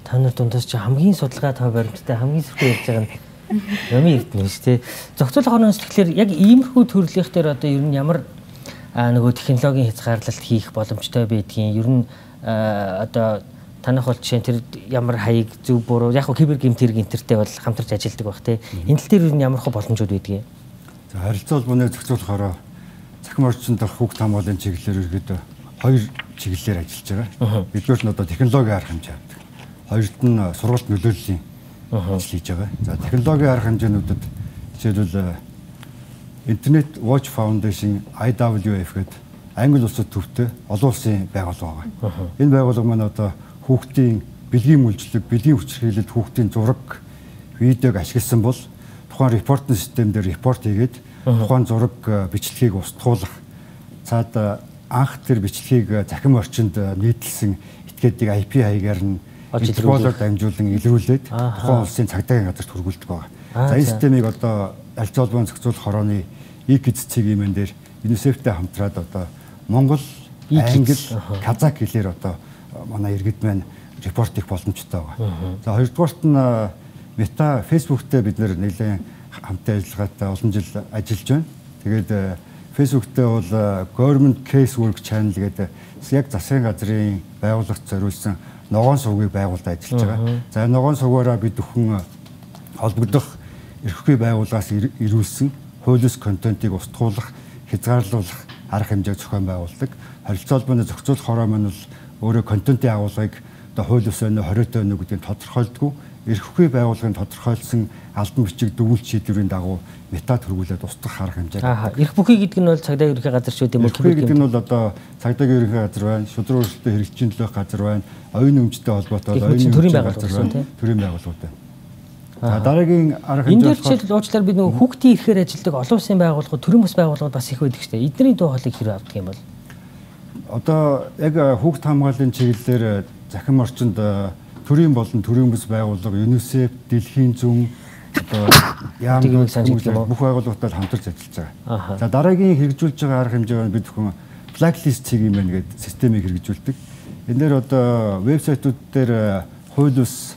Та нар дундаас чи хамгийн судалгаа тав баримттай хамгийн сүрхий ярьж байгаа нь юм эрдэнэ шүү дээ. Зохицуулах орноос тэгэхээр яг иймэрхүү төрлийнх дээр одоо ер нь ямар нөгөө технологийн хязгаарлалт хийх боломжтой байдгийг ер нь одоо танах бол жишээ нь тэр ямар хаяг зөв буруу яг хөө кибер гэмт хэрэг интертэй бол хамтарч ажилладаг байх те. Энэ тал дээр юу ямар хөө боломжууд байдгийг. За харилцаа холбооны зохицуулахаараа цахим орчинд дах хүүхд хамгааллын чиглэлээр ерөөдөө хоёр чиглэлээр ажиллаж байгаа. Эдгээр нь одоо технологийн арга хэмжээ авдаг. Хоёрт нь сургалт нөлөөллийн ажил хийж байгаа. За технологийн арга хэмжээнүүдэд жишээлбэл Internet Watch Foundation I W F гэдэг Англи улсад төвтэй олон улсын байгууллага байгаа. Энэ байгууллага маань одоо хүүхдийн бэлгийн мүлжлэг, бэлгийн хүчирхийлэлд хүүхдийн зураг, видеог ашигласан бол тухайн репортын систем дээр репорт хийгээд тухайн зураг бичлэгийг устгуулах. Цаад анх тэр бичлэгийг захим орчинд нийтлсэн этгээдийг I P хаягаар нь интерполоор дамжуулан илрүүлээд тухайн улсын цагдаагийн газарт хүргүүлдэг байгаа. За энэ системийг одоо харилцаа холбооны зохицуулах хорооны E-Kids цэгийн дээр UNICEF-тэй хамтраад одоо Монгол, Англи, Казак хэлээр одоо манай иргэд маань репорт их боломжтой байгаа. За хоёрдугаарт нь Meta Facebook-тэй бид нэр нэлээд хамтын ажиллагаатай олон жил ажиллаж байна. Тэгээд Facebook-тэй бол Government Casework Channel гэдэг яг засгийн газрын байгууллагт зориулсан ногоон сувгийг байгуулад ажиллаж байгаа. За ногоон сувгаараа бид бүхэн холбогдох эрхгүй байгууллагаас ирүүлсэн хуулиус контентыг устгуулах, хязгаарлуулах арга хэмжээг зохион байгуулдаг. Харилцаа холбооны зохицуулах хороо маань бол өөрөө контентын агуулгыг одоо хууль ёс өнөө хориотой өнөө гэдгийг тодорхойлдгоо эрхгүй байгууллагын тодорхойлсон албан бичиг дүгнэлт шийдвэрийн дагуу метад хөргүүлээд устгах арга хэмжээ. Аа эрх бүхий гэдэг нь бол цагдаагийн ерөнхий газар шүү дээ. Эрх бүхий гэдэг нь бол одоо цагдаагийн ерөнхий газар байна, шудраг өрсөлдөөн хэрэгжийн төлөөх газар байна, оюун өмчтэй холбоотой оюун төрийн байгууллага тийм төрийн байгууллагууд байна. За дараагийн арга хэмжээ. Энд дээр жишээл уучлаар бид нөгөө хүүхдийн эрхээр ажилладаг олон улсын байгууллагууд, төрийн бас байгууллагууд бас их байдаг шүү дээ. Эдний дуу хоолойг хэрэг авдаг юм бол одоо яг хүүхд хамгааллын чиглэлээр захим орчинд төрийн болон төрийн бүс байгууллага, UNICEF, Дэлхийн зүүн одоо яам бүх байгууллагатай хамтарч ажиллаж байгаа. За дараагийн хэрэгжүүлж байгаа арга хэмжээ нь бид бүхэн blacklist цэгийн мэн гэдэг системийг хэрэгжүүлдэг. Энэ дээр одоо вебсайтууд дээр хууль ус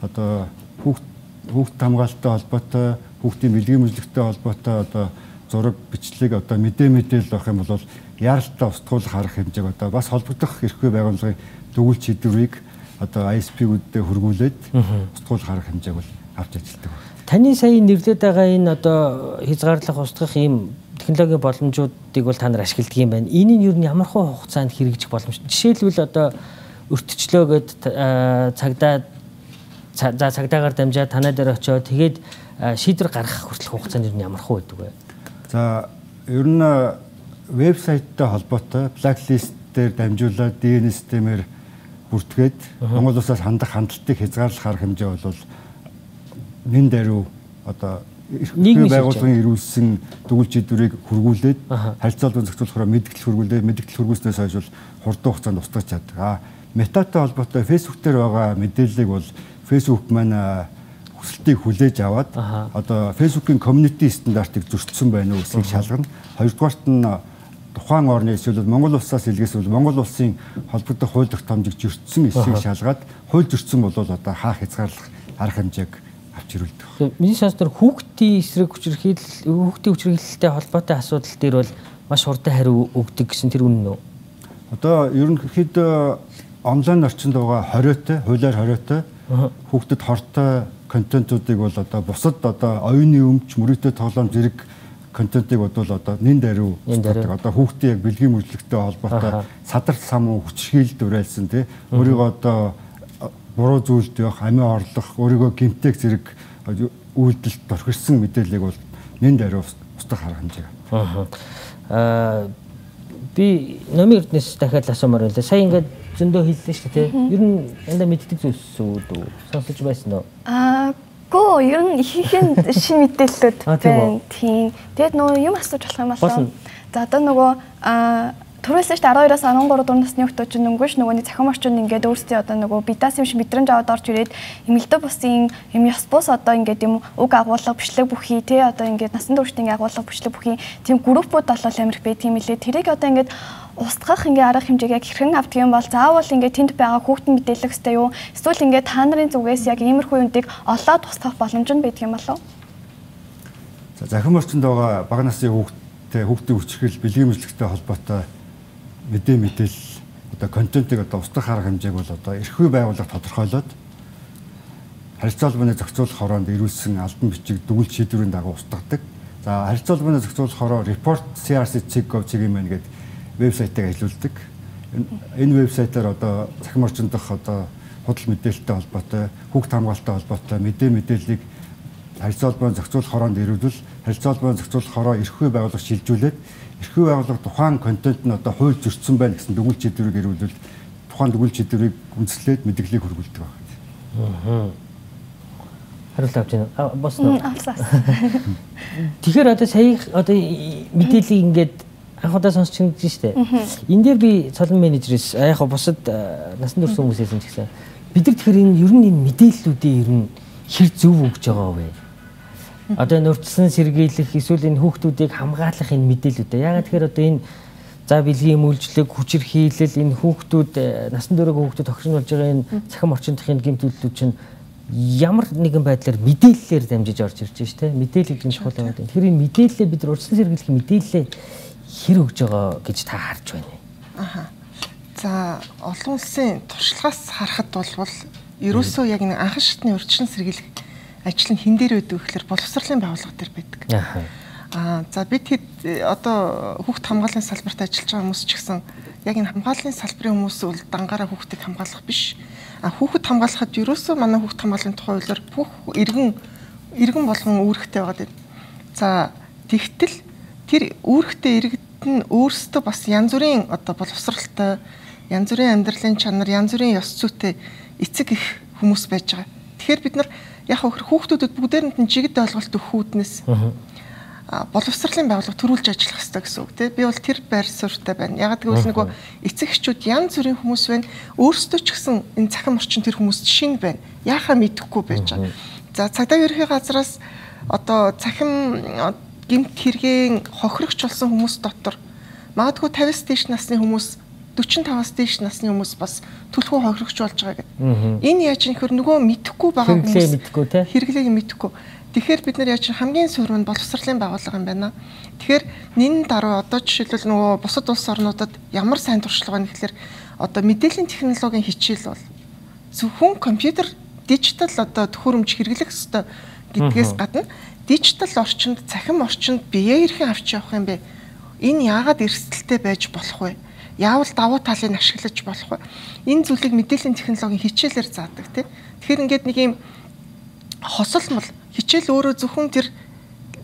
одоо хүүхд хүүхд хамгаалалттай холбоотой, хүүхдийн бэлгийн мэдлэгтэй холбоотой одоо зураг, бичлэг одоо мэдээ мэдээлэл авах юм бол яаралтай устгуулах арга хэмжээг одоо бас холбогдох эрхгүй байгууллагын дүгнэлт шийдвэрийг одоо I S P-гүүддээ хөргүүлээд устгуулах арга хэмжээг бол авч ажилладаг. Таны сая нэрлээд байгаа энэ одоо хязгаарлах устгах ийм технологийн боломжуудыг бол та нар ашигладаг юм байна. Энийг юу н ямархуу хугацаанд хэрэгжих боломжтой. Жишээлбэл одоо өртчлөө гэд цагдаа за цагдаагаар дамжаад танаа дээр очиод тэгээд шийдвэр гаргах хүртэлх хугацаанд юу ямархуу байдаг вэ? За ер нь вебсайттай холбоотой blacklist дээр дамжуулаад ди эн системээр бүртгээд Монгол улсаас хандах хандлтыг хязгаарлах арга хэмжээ бол нэн даруй одоо нийгмийн байгууллагын ирүүлсэн дүгнэлт шийдвэрийг хөргүүлээд харилцаа холбоон зохицуулахаар мэдгэл хөргүүлээд мэдгэл хөргүүлснээс хойш бол хурдан хугацаанд устгаж чаддаг. А метатай холбоотой Facebook дээр байгаа мэдээллийг бол Facebook маань хүсэлтийг хүлээж аваад одоо Facebook-ийн community стандартыг зөрчсөн байна уу гэдгийг шалгана. Хоёрдугаарт нь тухайн орны эсвэл Монгол улсаас илгээсвөл Монгол улсын холбогдох хууль тогтоомжийг зөрчсөн эсэхийг шалгаад хууль зөрчсөн бол одоо хаах хязгаарлах арга хэмжээг авч ирүүлдэг. Миний сонсдоор хүүхдийн эсрэг хүчирхийлэл, хүүхдийн хүчирхийлэлтэй холбоотой асуудал дээр бол маш хурдан хариу өгдөг гэсэн тэр үнэн үү? Одоо ерөнхийдөө онлайн орчинд байгаа хориотой, хуулиар хориотой хүүхдэд хортой контентуудыг бол одоо бусад одоо оюуны өмч, мөрөөдөө тоглоом зэрэг контентыг бодвол одоо нэн даруй устгадаг. Одоо хүүхдийн яг бэлгийн мөржлөгтэй холбоотой садар самуу хүчирхийлэлд уриалсан тий өөрийгөө одоо буруу зүйлд явах, амиа орлох, өөрийгөө гэмтэх зэрэг үйлдэлд орхирсан мэдээллийг бол нэн даруй устгах арга хэмжээ. Аа би номын эрдэнэс дахиад асуумаар байлаа. Сая ингээд зөндөө хэллээ шүү дээ. Ер нь янда мэддэг зүйлс үү? Сонсож байсан уу? Аа, гоо ер нь ихэнх шин мэдээллүүд байна. Тийм. Тэгэд нөгөө юм асууж болох юм байна. За одоо нөгөө аа түрүүлсэн шүү дээ арван хоёроос арван гурав дугаар насны хүмүүс чинь өнгөш нөгөөний цахим орчинд ингээд өөрсдөө одоо нөгөө бидаас юм шиг мэдрэмж аваад орж ирээд эмэлдэ бусын юм ёс бус одоо ингээд юм уг агуулга бичлэг бүхий тий одоо ингээд насан туршийн агуулга бичлэг бүхий тийм группууд болол амирх бай тийм үлээ тэрийг одоо ингээд устгах ингээд арга хэмжээг яг хэрхэн авдаг юм бол заавал ингээд тэнд байгаа хүүхдэн мэдээлэх хэрэгтэй юу эсвэл ингээд та нарын зүгээс яг иймэрхүү юмдыг олоод устгах боломж нь байдаг юм болов? За захим орчинд байгаа бага насны хүүхдтэй хүүхдийн хүчирхийлэл бэлгийн мэдлэгтэй холбоотой мэдээ мэдээлэл одоо контентыг одоо устгах арга хэмжээг бол одоо эрх үе байгууллага тодорхойлоод харилцаа холбооны зохицуулах хороонд ирүүлсэн албан бичиг дүгнэлт шийдвэрийн дагуу устгадаг. За харилцаа холбооны зохицуулах хороо report C R C check gov чиглэлийн гэдэг вебсайтыг ажилуулдаг. Энэ вебсайтаар одоо захим орчинд дах одоо худал мэдээлэлтэй холбоотой, хүүхд хамгаалалттай холбоотой мэдээ мэдээллийг харилцаа холбооны зохицуулах хороонд ирүүлвэл харилцаа холбооны зохицуулах хороо эрх үе байгууллага шилжүүлээд эрх үе байгууллага тухайн контент нь одоо хууль зөрчсөн байна гэсэн дүгнэлт шийдвэрийг ирүүлвэл тухайн дүгнэлт шийдвэрийг үндэслээд мэдээллийг хүргүүлдэг байна. Аа. Хариулт авч байна. Босно. Тэгэхээр одоо сая одоо мэдээллийг ингээд анх удаа сонсч ингэж штэ. Энэ дээр би цолон менежерээс яг бусад насан турш хүмүүсээс юм гэсэн. Бид нар тэгэхээр энэ ер нь энэ мэдээллүүдээ ер нь хэр зөв өгж байгаа вэ? Одоо энэ урьдчилан сэргийлэх эсвэл энэ хүүхдүүдийг хамгаалах энэ мэдээлэлүүд. Яагаад тэгэхээр одоо энэ за бэлгийн үйлчлэг, хүчирхийлэл энэ хүүхдүүд насан туршийн хүүхдүүд тохирсон болж байгаа энэ цахим орчиндхийн гэмт үйлдэлүүд чинь ямар нэгэн байдлаар мэдээллээр дамжиж орж ирж байна шүү дээ. Мэдээлэл гэдэг нь чухал юм байна. Тэгэхээр энэ мэдээлэлээ бид урьдчилан сэргийлэх мэдээлэлээ хэр өгж байгаа гэж та харж байна. Аха. За олон улсын туршлагаас харахад бол ерөөсөө яг нэг анхан шатны урьдчилан сэргийлэх ажил нь хэн дээр байдаг гэхээр боловсролын байгууллага дээр байдаг. Аа за бид хэд одоо хүүхд хамгааллын салбарт ажиллаж байгаа хүмүүс ч гэсэн яг энэ хамгааллын салбарын хүмүүс бол дангаараа хүүхдийг хамгаалах биш. А хүүхэд хамгаалахад ерөөсөө манай хүүхд хамгааллын тухай хуулиар бүх иргэн иргэн болгон үүрэгтэй байгаа гэдэг. За тэгтэл тэр үүрэгтэй иргэд нь өөрсдөө бас янз бүрийн одоо боловсролтой, янз бүрийн амьдралын чанар, янз бүрийн ёс зүйтэй эцэг их хүмүүс байж байгаа. Тэгэхээр бид нар яг хүүхдүүдэд бүгдээрэнд нь жигд ойлголт өгөх үүднээс боловсролын байгууллага төрүүлж ажиллах хэрэгтэй гэсэн үг тийм. Би бол тэр байр суурьтай байна. Яг гэвэл нөгөө эцэг эхчүүд янз бүрийн хүмүүс байна. Өөрсдөө ч гэсэн энэ цахим орчин тэр хүмүүст шин байна. Яахаа мэдэхгүй байж байгаа. За цагдаагийн ерхий газраас одоо цахим гэмт хэргийн хохирогч болсон хүмүүс дотор магадгүй тавиас дээш насны хүмүүс дөрвөн таваас дээш насны хүмүүс бас түлхүү хохирогч болж байгаа гэдэг. Энэ яаж нөхөр нөгөө мэдэхгүй байгаа хүмүүс хэрэглээг мэдэхгүй. Тэгэхээр бид нар яаж хамгийн суур нь боловсролын байгууллага юм байна. Тэгэхээр нэн даруй одоо жишээлбэл нөгөө бусад улс орнуудад ямар сайн туршлага байна гэхээр одоо мэдээллийн технологийн хичээл бол зөвхөн компьютер дижитал одоо төхөөрөмж хэрэглэх ёстой гэдгээс гадна дижитал орчинд цахим орчинд бие эрхэн авч явах юм бэ? Энэ яагаад эрсдэлтэй байж болох вэ? Яавал давуу талыг ашиглаж болох вэ? Энэ зүйлийг мэдээллийн технологийн хичээлээр заадаг тийм. Тэгэхээр ингээд нэг юм хосолмол хичээл өөрөө зөвхөн тэр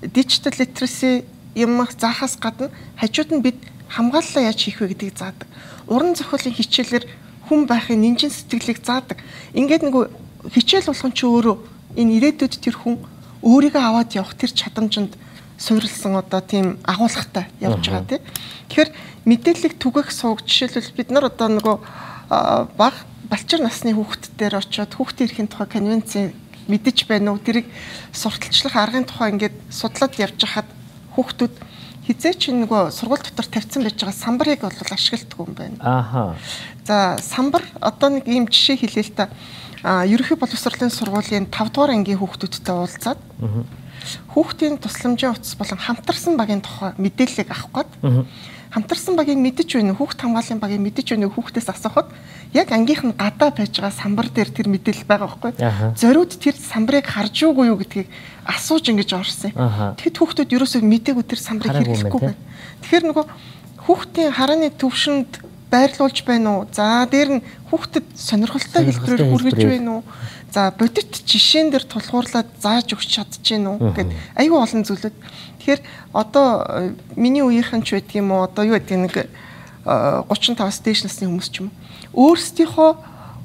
digital literacy юм заахаас гадна хажууд нь бид хамгааллаа яаж хийх вэ гэдгийг заадаг. Уран зохиолын хичээлээр хүн байхын нинжин сэтгэлийг заадаг. Ингээд нэг хичээл болгон ч өөрөө энэ ирээдүйд тэр хүн өөрийгөө аваад явах тэр чадамжинд суурилсан одоо тийм агуулгатай явж байгаа тийм. Тэгэхээр мэдээллийг түгэх сууг жишээлбэл бид нар одоо нөгөө бага балчир насны хүүхдүүдээр очиод хүүхдийн эрхийн тухай конвенцийн мэдэж байна уу тэрийг сурталчлах аргын тухай ингээд судлаад явж хахад хүүхдүүд хизээч нөгөө сургууль дотор тавьсан байж байгаа самбарыг бол ашигладаг юм байна. Ааха. За самбар одоо нэг ийм жишээ хэлээ л та. а ерөнхий боловсролын сургуулийн тавд дугаар ангийн хүүхдүүдтэй уулзаад хүүхдийн тусламжийн утас болон хамтарсан багийн тухай мэдээллийг авах гээд хамтарсан багийг мэдэж байна уу, хүүхд хамгааллын багийг мэдэж байна уу хүүхдээс асуухад яг ангийнх нь гадаа байж байгаа самбар дээр тэр мэдээлэл байгаа байхгүй. Зориуд тэр самбарыг харж юугүй юу гэдгийг асууж ингэж орсон юм. Тэгэхэд хүүхдүүд ерөөсөө мдээгүй тэр самбарыг хэрэглэхгүй байна. Тэгэхээр нөгөө хүүхдийн харааны төвшөнд байрлуулж байна уу? За дээр нь хүүхдэд сонирхолтой хэлбэрээр хүргэж байна уу? За бодит жишээн дээр тулгуурлаад зааж өгч чадчихэв үү гэд аюу олон зүйлүүд. Тэгэхээр одоо миний үеийнхэн ч байдаг юм уу? Одоо юу гэдэг нэг гучин таваас дээш насны хүмүүс ч юм уу. Өөрсдийнхөө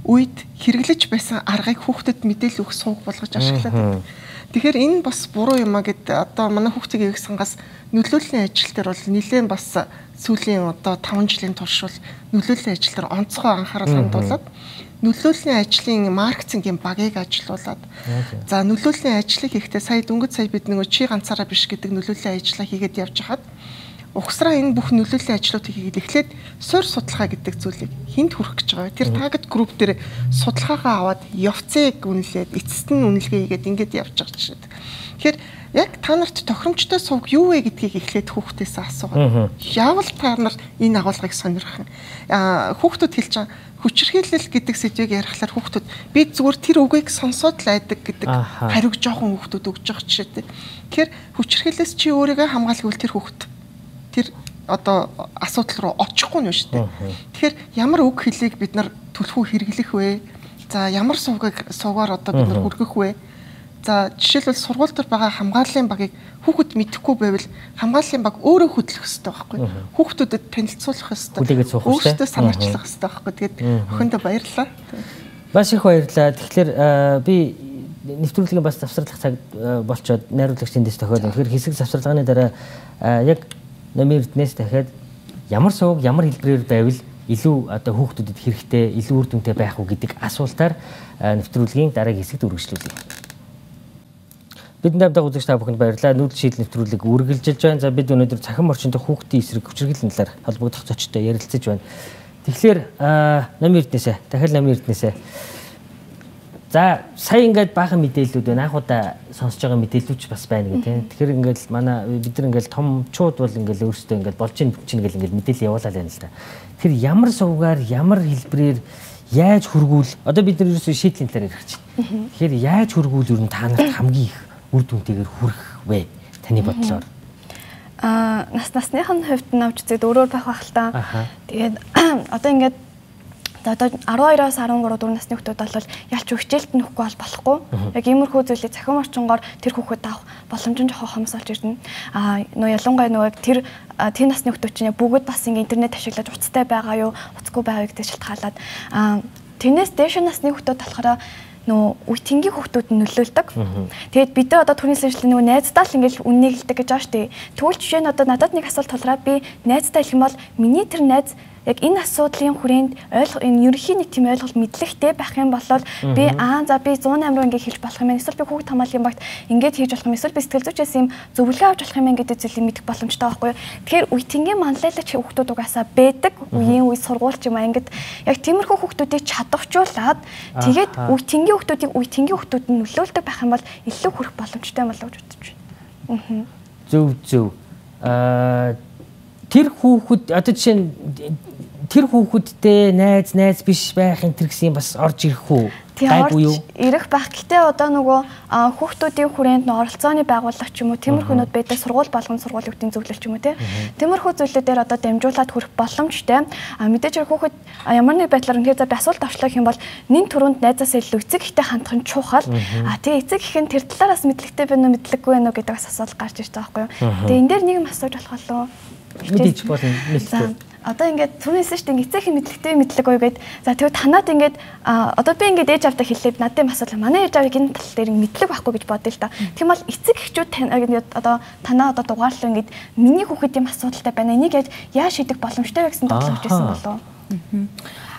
үед хэрэглэж байсан аргыг хүүхдэд мэдээлэл өгөх сувг болгож ашиглаад. Тэгэхээр энэ бас буруу юм а гэд одоо манай хүүхдийн эвэг сангаас нөлөөллийн ажил дээр бол нэлээд бас сүүлийн одоо таван жилийн турш бол нөлөөллийн ажил дээр онцгой анхаарал хандуулад нөлөөллийн ажлын маркетингийн багийг ажилуулад за нөлөөллийн ажлыг хийхдээ сая дөнгөж сая бид нэг чи ганцаараа биш гэдэг нөлөөллийн ажлаа хийгээд явж хахад ухсраа энэ бүх нөлөөллийн ажлуудыг хийгээд эхлээд суур судалгаа гэдэг зүйлийг хинт хүрэх гэж байгаа. Тэр таргет групп дээр судалгаагаа аваад явцыг үнэлээд эцэст нь үнэлгээ хийгээд ингэж явж байгаа чинь. Тэгэхээр яг та нарт тохиромжтой сувг юу вэ гэдгийг эхлээд хүүхдээс асуугаад яавал та нар энэ агуулгыг сонирхох юм. Аа хүүхдүүд хэлж байгаа хүчирхийлэл гэдэг сэдвийг ярихлаар хүүхдүүд би зүгээр тэр үгийг сонсоод л айдаг гэдэг хариуг жоохон хүүхдүүд өгж байгаа жишээтэй. Тэгэхээр хүчирхийлэлээс чи өөрийгөө хамгаалгавал тэр хүүхд тэр одоо асуудал руу очихгүй нь шүү дээ. Тэгэхээр ямар үг хэлийг бид нар түлхүү хэрэглэх вэ? За ямар сувгийг сувгаар одоо бид нар хүргэх вэ? За жишээлбэл сургууль дээр байгаа хамгааллын багийг хүүхэд мэдэхгүй байвал хамгааллын баг өөрөө хөтлөх хэрэгтэй байхгүй. Хүүхдүүдэд танилцуулах хэрэгтэй. Өөрсдөө санаачлах хэрэгтэй байхгүй. Тэгээд өхөндөө баярлалаа. Маш их баярлалаа. Тэгэхээр би нэвтрүүлгийн бас завсарлах цаг болчоод найруулагчдын дэс тохиол. Тэгэхээр хэсэг завсарлагын дараа яг намын эрдэнэс дахиад ямар сувг ямар хэлбэрээр байвал илүү одоо хүүхдүүдэд хэрэгтэй, илүү үр дүнтэй байх уу гэдэг асуултаар нэвтрүүлгийн дараагийн хэсэгт үргэлжлүүлье. Бидний хамтдаа үзэгч та бүхэнд баярлалаа. Нүүдэл шийдэл нэвтрүүлэг үргэлжилж байна. За бид өнөөдөр цахим орчинд хүүхдийн эсрэг хүчирхийллийн талаар холбогдох зочтой ярилцаж байна. Тэгэхээр намын эрдэнэсээ, дахиад намын эрдэнэсээ. За сая ингээд баахан мэдээллүүд байна. Анхудаа сонсож байгаа мэдээллүүд ч бас байна гэх тийм. Тэгэхээр ингээд манай бид нар ингээд томчууд бол ингээд өөрсдөө ингээд болж ийн чинь гэл ингээд мэдээлэл явуулаад байна л да. Тэгэхээр ямар сувгаар, ямар хэлбэрээр яаж хөргүүл одоо бид нар ерөөсөө шийдлийн талаар ярих чинь. Тэгэхээр яаж хөргүүл ер нь та нарт хамгийн их үр дүнтэйгээр хүрэх вэ? Таны бодлоор. Аа, нас насныхын хувьд навч зэд өөрөөр байх байх л та. Тэгээд одоо ингээд одоо арван хоёроос арван гурав дөрвөн насны хүүхдүүд бол ялч хичээлд нөхгүй бол болохгүй. Яг иймэрхүү зүйлийг цахим орчингоор тэр хүүхэд авах боломж нь жоохон хомсолж ирнэ. Аа, нөө ялангуяа нөгөө тэр тэр насны хүүхдүүд чинь бүгд бас ингээд интернет ашиглаж уцтай байгаа юу, уцгүй байгаа гэдэг шалтгаалаад аа тэрнээс дээш насны хүүхдүүд болохоор нөө үеийнгийн хүүхдүүд нь нөлөөлдөг. Тэгээд бид нар одоо түрүүний сэжлэн нөгөө найздаа л ингээл үннийг хэлдэг гэж байгаа шүү дээ. Тэгвэл жишээ нь одоо надад нэг асуулт толраад би найздаа хэлэх юм бол миний тэр найз яг энэ асуудлын хүрээнд ойлгох энэ ерөнхий нэг тийм ойлголт мэдлэгтэй байх юм бол би аа за би сто восемь руу ингээ хэлж болох юм. Эсвэл би хүүхд хамгааллын багт ингээд хийж болох юм. Эсвэл би сэтгэл зүйчээс юм зөвлөгөө авч болох юм гэдэг зүйлийг мэдэх боломжтой байхгүй юу? Тэгэхээр үеийнгийн манлайлагч хүүхдүүд угаасаа байдаг. Үеийн үе сургуульч юм аа ингээд яг тиймэрхүү хүүхдүүдийг чадварчуулаад тэгээд үеийнгийн хүүхдүүдийг үеийнгийн хүүхдүүд нь нөлөөлдөг байх юм бол илүү хүрэх боломжтой юм болов уу гэж бодож байна. Аа. Зөв зөв. Аа тэр хүүхэд одоо жишээ нь тэр хүүхэдтэй найз найз биш байх энэ төр гэсэн бас орж ирэх үү? Гайгүй юу? Ирэх байх. Гэтэ одоо нөгөө хүүхдүүдийн хүрээнд нь оролцооны байгууллага ч юм уу тиймэрхүүнүүд байдаг сургууль болгон сургуулиудын зөвлөл ч юм уу те. Тиймэрхүү зүйлүүдээр одоо дамжуулаад хүрэх боломжтой. А мэдээж хүүхэд ямар нэг байдлаар үнэхээр за би асуулт авчлах юм бол нэн түрүүнд найзаас илүү эцэг ихтэй хандах нь чухал. А тэгээ эцэг их нь тэр талаараас мэдлэгтэй байна уу мэдлэггүй байна уу гэдэг бас асуулт гарч ирж байгаа байхгүй юу? Тэгээ энэ дээр нэг юм асууж болох болов уу? Мэдээж болно нэлээд. Одоо ингээд түрүүнээс шүү дээ эцэг их мэдлэгтэй мэдлэг уу гэд за тэгвэл танаад ингээд одоо би ингээд ээж авдаа хэллээ надад асуудал манай ээж авыг энэ тал дээр мэдлэг байхгүй гэж бодъё л да. Тийм бол эцэг эхчүүд одоо танаа одоо дугаарлаа ингээд миний хүүхэд юм асуудалтай байна энийг яаж шийдэх боломжтой вэ гэсэн бодлоо өгчээсэн болов уу?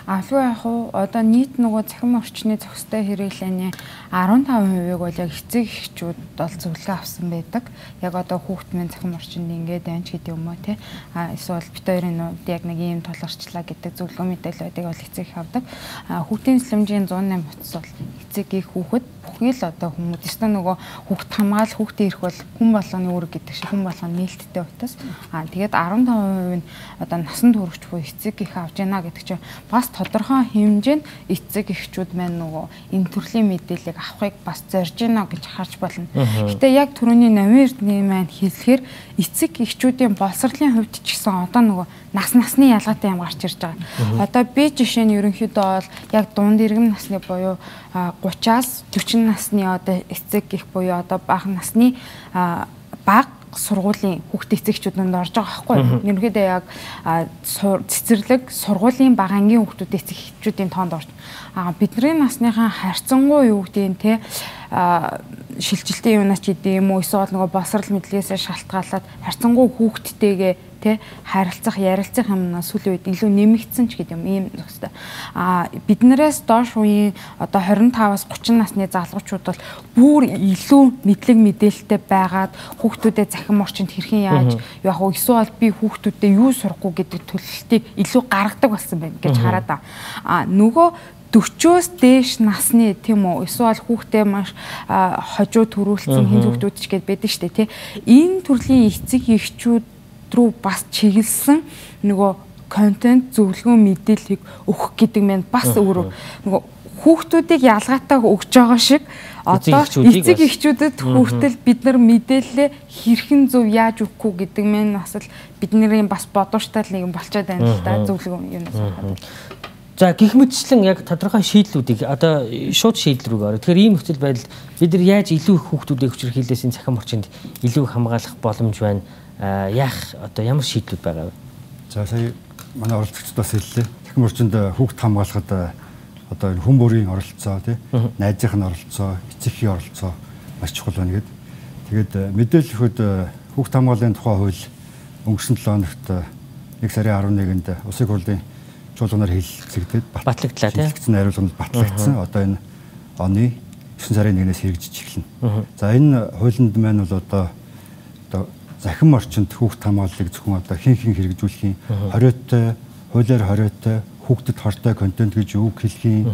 Алгүй яг уу одоо нийт нөгөө цахим орчны зохистой хэрэглээний арван таван хувийг бол яг эцэг эхчүүд бол зөвлөгөө авсан байдаг. Яг одоо хүүхд минь цахим орчинд ингээд байна ч гэдэг юм уу те. А эсвэл бит хоёрын нүд яг нэг ийм толгорчлаа гэдэг зөвлөгөө мэдээлэл байдаг бол эцэг их авдаг. А хүүхдийн эслэмжийн сто восемь утас бол эцэг их хүүхэд бүхий л одоо хүмүүс өстө нөгөө хүүхд хамгаал хүүхдээ ирэх бол хүн болгоны үүрэг гэдэг шиг хүн болгоны нээлттэй утас. Аа тэгээд арван таван хувь нь одоо насан туршид буюу эцэг их авж яана гэдэг чинь бас тодорхой хэмжээнд эцэг эхчүүд маань нөгөө энэ төрлийн мэдээллийг авахыг бас зорж яана гэж харж болно. Гэтэ яг түрүүний Намын Эрдэнэ маань хэлэхээр эцэг эхчүүдийн боловсролын хувьд ч гэсэн одоо нөгөө нас насны ялгаатай юм гарч ирж байгаа. Одоо би жишээ нь ерөнхийдөө бол яг дунд иргэн насны буюу гураваас дөрвөн насны одоо эцэг их буюу одоо бага насны бага сургуулийн хүүхд эцэгчүүдэнд орж байгаа байхгүй юу? Ерөнхийдөө яг цэцэрлэг сургуулийн бага ангийн хүүхдүүд эцэгчүүдийн тоонд орж. Аа бидний насныхаа харьцангуй юу гэдэг нь те шилжилтийн юунаас ч идэм үү эсвэл нөгөө босрал мэдлэгээсээ шалтгаалаад харьцангуй хүүхдтэйгээ тэ харилцах ярилцах юмнаас сүүлийн үед илүү нэмэгдсэн ч гэдэг юм ийм зөвхөстэй. Аа биднээс доош үеийн одоо двадцать таваас гуравч насны залгуучууд бол бүр илүү мэдлэг мэдээлэлтэй байгаад хүүхдүүдэд захин орчинд хэрхэн яаж яг уу эсвэл би хүүхдүүдэд юу сурахгүй гэдэг төлөвлөлтийг илүү гаргадаг болсон байна гэж хараад байгаа. Аа нөгөө дөрвөөс дээш насны тийм үү эсвэл хүүхдээ маш хожуу төрүүлсэн хин хүүхдүүд ч гэд байдаг штэ тий. Энэ төрлийн эцэг эхчүүд рүү бас чиглэсэн нөгөө контент зөвлөгөө мэдээллийг өгөх гэдэг нь бас өөр нөгөө хүүхдүүдийг ялгаатай өгж байгаа шиг одоо эцэг эхчүүдэд хүртэл бид нар мэдээлэлээ хэрхэн зөв яаж өгөхгүй гэдэг нь бас л бидний бас бодвоштай нэг юм болчиход байна л да зөвлөгөө юм байна. За гэх мэтчлэн яг тодорхой шийдлүүдийг одоо шууд шийдэл рүү орё. Тэгэхээр ийм нөхцөл байдал бид нар яаж илүү их хүүхдүүдийг хүчирхийлээс энэ цахим орчинд илүү хамгаалах боломж байна? Яах одоо ямар шийдлүүд байгаа вэ? За сая манай оролцогчд бас хэллээ. Цахим орчинд хүүхд хамгаалахад одоо энэ хүн бүрийн оролцоо тий, найзынхны оролцоо, эцэгхийн оролцоо маш чухал байна гэдэг. Тэгээд мэдээлэл өгөхөд хүүхд хамгааллын тухай хууль өнгөрсөн долоо хоногт нэг сарын арван нэгэнд Улсын хурлын чуулганаар хэлэлцэгдээд батлагдлаа тий. Хэлэлцсэн хариулганд батлагдсан. Одоо энэ оны девөн сарын нэгнээс хэрэгжиж эхэлнэ. За энэ хуулинд маань бол одоо одоо захим орчинд хүүхд хамгааллыг зөвхөн одоо хин хин хэрэгжүүлэхийн хориотой, хуулиар хориотой, хүүхдэд хортой контент гэж үг хэлхийн.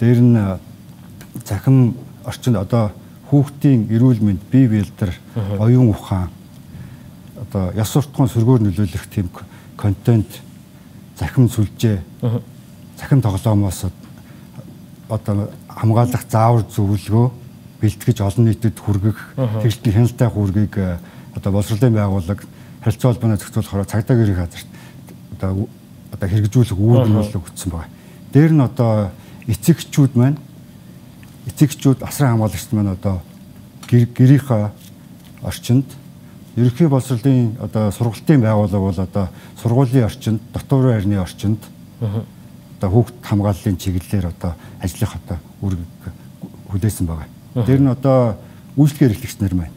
Дээр нь захим орчинд одоо хүүхдийн эрүүл мэнд, бие биелдэр, оюун ухаан одоо яс суртахуун сөргөөр нөлөөлөх тийм контент захим сүлжээ, захим тоглоомоос одоо хамгаалах заавар зөвлөгөө бэлтгэж олон нийтэд хүргэх хэрэгтний хяналттай хүргийг одоо боловсролын байгууллага харилцаа холбооны зохицуулахаар цагдаа гэрийн газарт одоо одоо хэрэгжүүлэх үүрэг өгсөн байна. Дээр нь одоо эцэгчүүд маань эцэгчүүд асран хамгаалагчид маань одоо гэрийнхаа орчинд ерөнхий боловсролын одоо сургалтын байгууллага бол одоо сургуулийн орчинд, дотор байрны орчинд одоо хүүхд хамгааллын чиглэлээр одоо ажиллах одоо үүрэг хүлээсэн байгаа. Тэр нь одоо үйлчлэгээр эрхлэгч нар маань.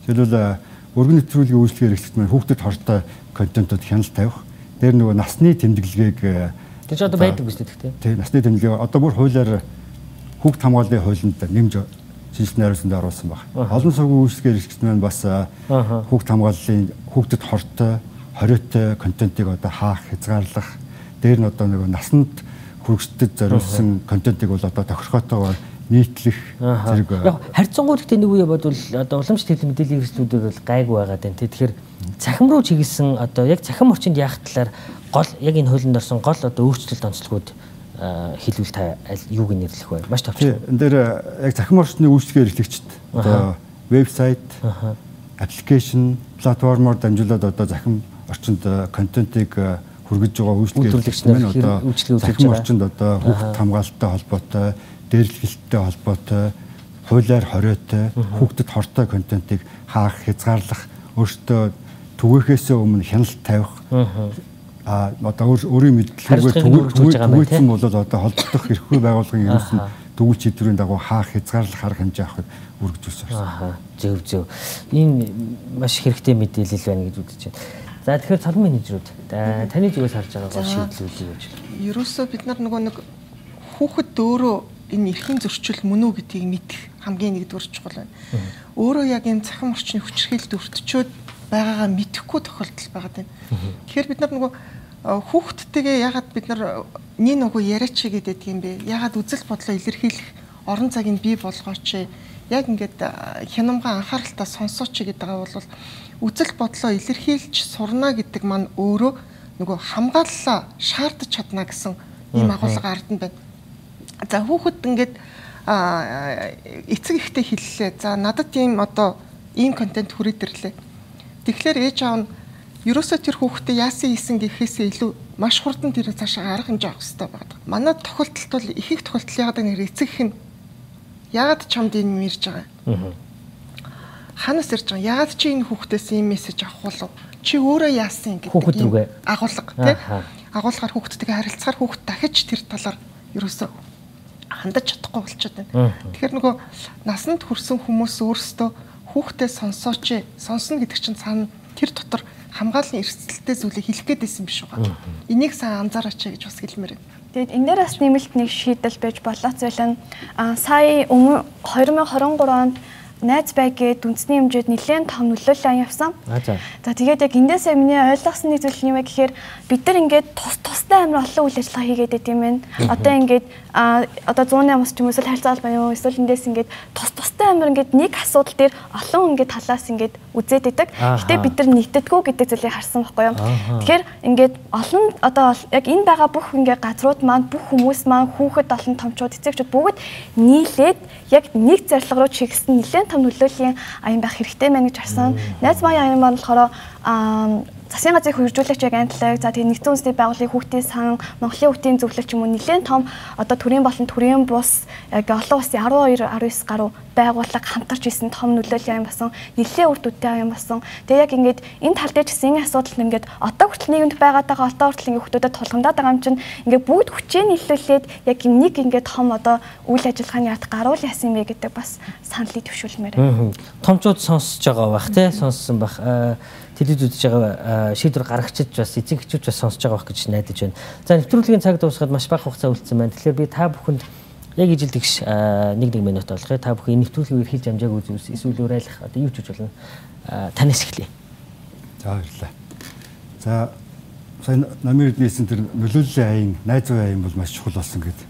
Жишээлбэл өргөн нэвтрүүлгийн үйлчлэгээр эрхлэгч маань хүүхдэд хортой контентууд хяналт тавих. Тэр нөгөө насны тэмдэглэгийг тэр ч одоо байдаг биз дээ. Тий, насны тэмдэглэг одоо бүр хуулиар хүүхд хамгааллын хуулинд нэмж шинжилгээ хариуцанд оруулсан байна. Олон сургуулийн үйлчлэгээр эрхлэгч маань бас хүүхд хамгааллын хүүхдэд хортой, хориотой контентыг одоо хаах, хязгаарлах, дээр нь одоо нөгөө насанд хүрэгчдэд зориулсан контентыг бол одоо тохирохоотойгоор нийтлэх зэрэг. Яг харьцангуй гэхдээ нэг үе бодвол одоо уламжлалт хэлний мэдээллийн хэрэгслүүдийг бол гайгүй байгаа даа. Тэгэхээр цахим руу чиглэсэн одоо яг цахим орчинд яах талаар гол яг энэ хуулинд орсон гол одоо өөрчлөлт онцлогуд хэлвэл та юуг нэрлэх вэ? Маш товч. Энэ дээр яг цахим орчны үйлчлэгээр эрхлэгчд одоо вебсайт, аппликейшн, платформоор дамжуулаад одоо цахим орчинд контентыг хүргэж байгаа үйлчлэгээр эрхлэгчид маань одоо цахим орчинд одоо хүүхд хамгаалалттай холбоотой, дээрлэхэлттэй холбоотой, хуулиар хориотой, хүүхдэд хортой контентыг хаах, хязгаарлах, өөртөө түгээхээс өмнө хяналт тавих а одоо өөрийн мэдлэгээр түгээсэн бол одоо холбогдох эрхгүй байгууллагын ерөнхий төгөл шийдвэрийн дагуу хаах, хязгаарлах арга хэмжээ авахыг үргэлжлүүлсэн байна. Аа зөв зөв. Энэ маш хэрэгтэй мэдээлэл байна гэж үзэж байна. За тэгэхээр цалин менежерүүд таны зүгээс харж байгаа гол шийдлүүд юу вэ? Ерөөсөө бид нар нөгөө нэг хүүхэд өөрөө энэ эрхийн зөрчил мөн үү гэдгийг мэдэх хамгийн нэгдүгээр чухал байна. Өөрөө яг энэ цахим орчны хүчирхийлэлд өртчөөд байгаагаа мэдэхгүй тохиолдол байгаа юм. Тэгэхээр бид нар нөгөө хүүхдтэйгээ ягаад бид нар нэг нөгөө яриач гэдэг юм бэ? Ягаад үзэл бодлоо илэрхийлэх орон цагийг бий болгооч. Яг ингээд хянамга анхааралтай сонсооч гэдэг бол үзэл бодлоо илэрхийлж сурна гэдэг маань өөрөө нөгөө хамгааллаа шаардаж чадна гэсэн ийм агуулга ард нь байна. За хүүхэд ингээд эцэг ихтэй хэллээ. За надад ийм одоо ийм контент хүрээд ирлээ. Тэгэхээр ээж аав нь ерөөсөө тэр хүүхдээ яасан хийсэн гэхээсээ илүү маш хурдан тэр цаашаа арга хэмжээ авах хэрэгтэй байна. Манай тохиолдолд бол их их тохиолдол яагаад нэр эцэг их нь яагаад чамд энэ мэрж байгаа юм? Ханаас ирж байгаа? Яагаад чи энэ хүүхдээс ийм мессеж авах болов? Чи өөрөө яасан гэдэг хүүхэд рүүгээ агуулга тий? Агуулгаар хүүхдтэйгээ харилцахаар хүүхд дахиж тэр талаар ерөөсөө хандаж чадахгүй болчиход байна. Тэгэхээр нөгөө насанд хүрсэн хүмүүс өөрсдөө хүүхдээ сонсооч, сонсно гэдэг чинь цаана тэр дотор хамгааллын эрсдэлтэй зүйлийг хэлэх гээд байсан биш үү? Энийг сайн анзаараач гэж бас хэлмээр байна. Тэгэд энэ дээр бас нэмэлт нэг шийдэл байж болоо зүйл нь сая өмнө хоёр мянга хорин гурав онд найз бай гээд үндэсний хэмжээд нэлээд том нөлөөлөл явсан. За тэгээд яг эндээсээ миний ойлгосон нэг зүйл нь юу вэ гэхээр бид нар ингээд тус тустай амар олон үйл ажиллагаа хийгээд байт юм байна. Одоо ингээд одоо зууны амс ч юм уу эсвэл харьцаа албан юм эсвэл эндээс ингээд тус тустай амар ингээд нэг асуудал дээр олон ингээд талаас ингээд үзээд байдаг. Гэтэ бид нар нэгтдэггүй гэдэг зүйлийг харсан байхгүй юу. Тэгэхээр ингээд олон одоо яг энэ байгаа бүх ингээд газрууд маань бүх хүмүүс маань хүүхэд олон томчууд эцэгчүүд бүгд нийлээд яг нэг зорилго руу чигсэн нэлээд том нөлөөллийн аян байх хэрэгтэй мэн гэж харсан. Найз маань аян маань болохоор засгийн газрын хөгжүүлэгч яг антлаг за тэгээ нэгдсэн үндэсний байгууллагын хүүхдийн сан Монголын хүүхдийн зөвлөлт юм уу нэлээд том одоо төрийн болон төрийн бус яг олон улсын арван хоёр арван девять гаруй байгууллага хамтарч исэн том нөлөөллийн аян басан нэлээд үр дүнтэй аян басан. Тэгээ яг ингээд энэ тал дээр гэсэн энэ асуудал нь ингээд одоо хүртэл нийгэмд байгаад байгаа одоо хүртэл ингээд хүүхдүүдэд тулгамдаад байгаа юм чинь ингээд бүгд хүчээ нийлүүлээд яг нэг ингээд том одоо үйл ажиллагааны ард гаруул яасан юм бэ гэдэг бас саналыг төвшүүлмээр байна. Томчууд сонсож байгаа бах тий сонссон бах телевиз үзэж байгаа шийдвэр гаргагчид бас эцэг эхчүүд бас сонсож байгаа байх гэж найдаж байна. За нэвтрүүлгийн цаг дуусгаад маш бага хугацаа үлдсэн байна. Тэгэхээр би та бүхэнд яг ижил тэгш нэг нэг минут болгоё. Та бүхэн нэвтрүүлгийг эрхэлж амжаагүй зүйлс эсвэл уриалах одоо юу ч гэж болно. Танаас эхлэе. За баярлалаа. За сайн намын эрдэнэсэн тэр нөлөөллийн аян, найз зүйн аян бол маш чухал болсон гэдэг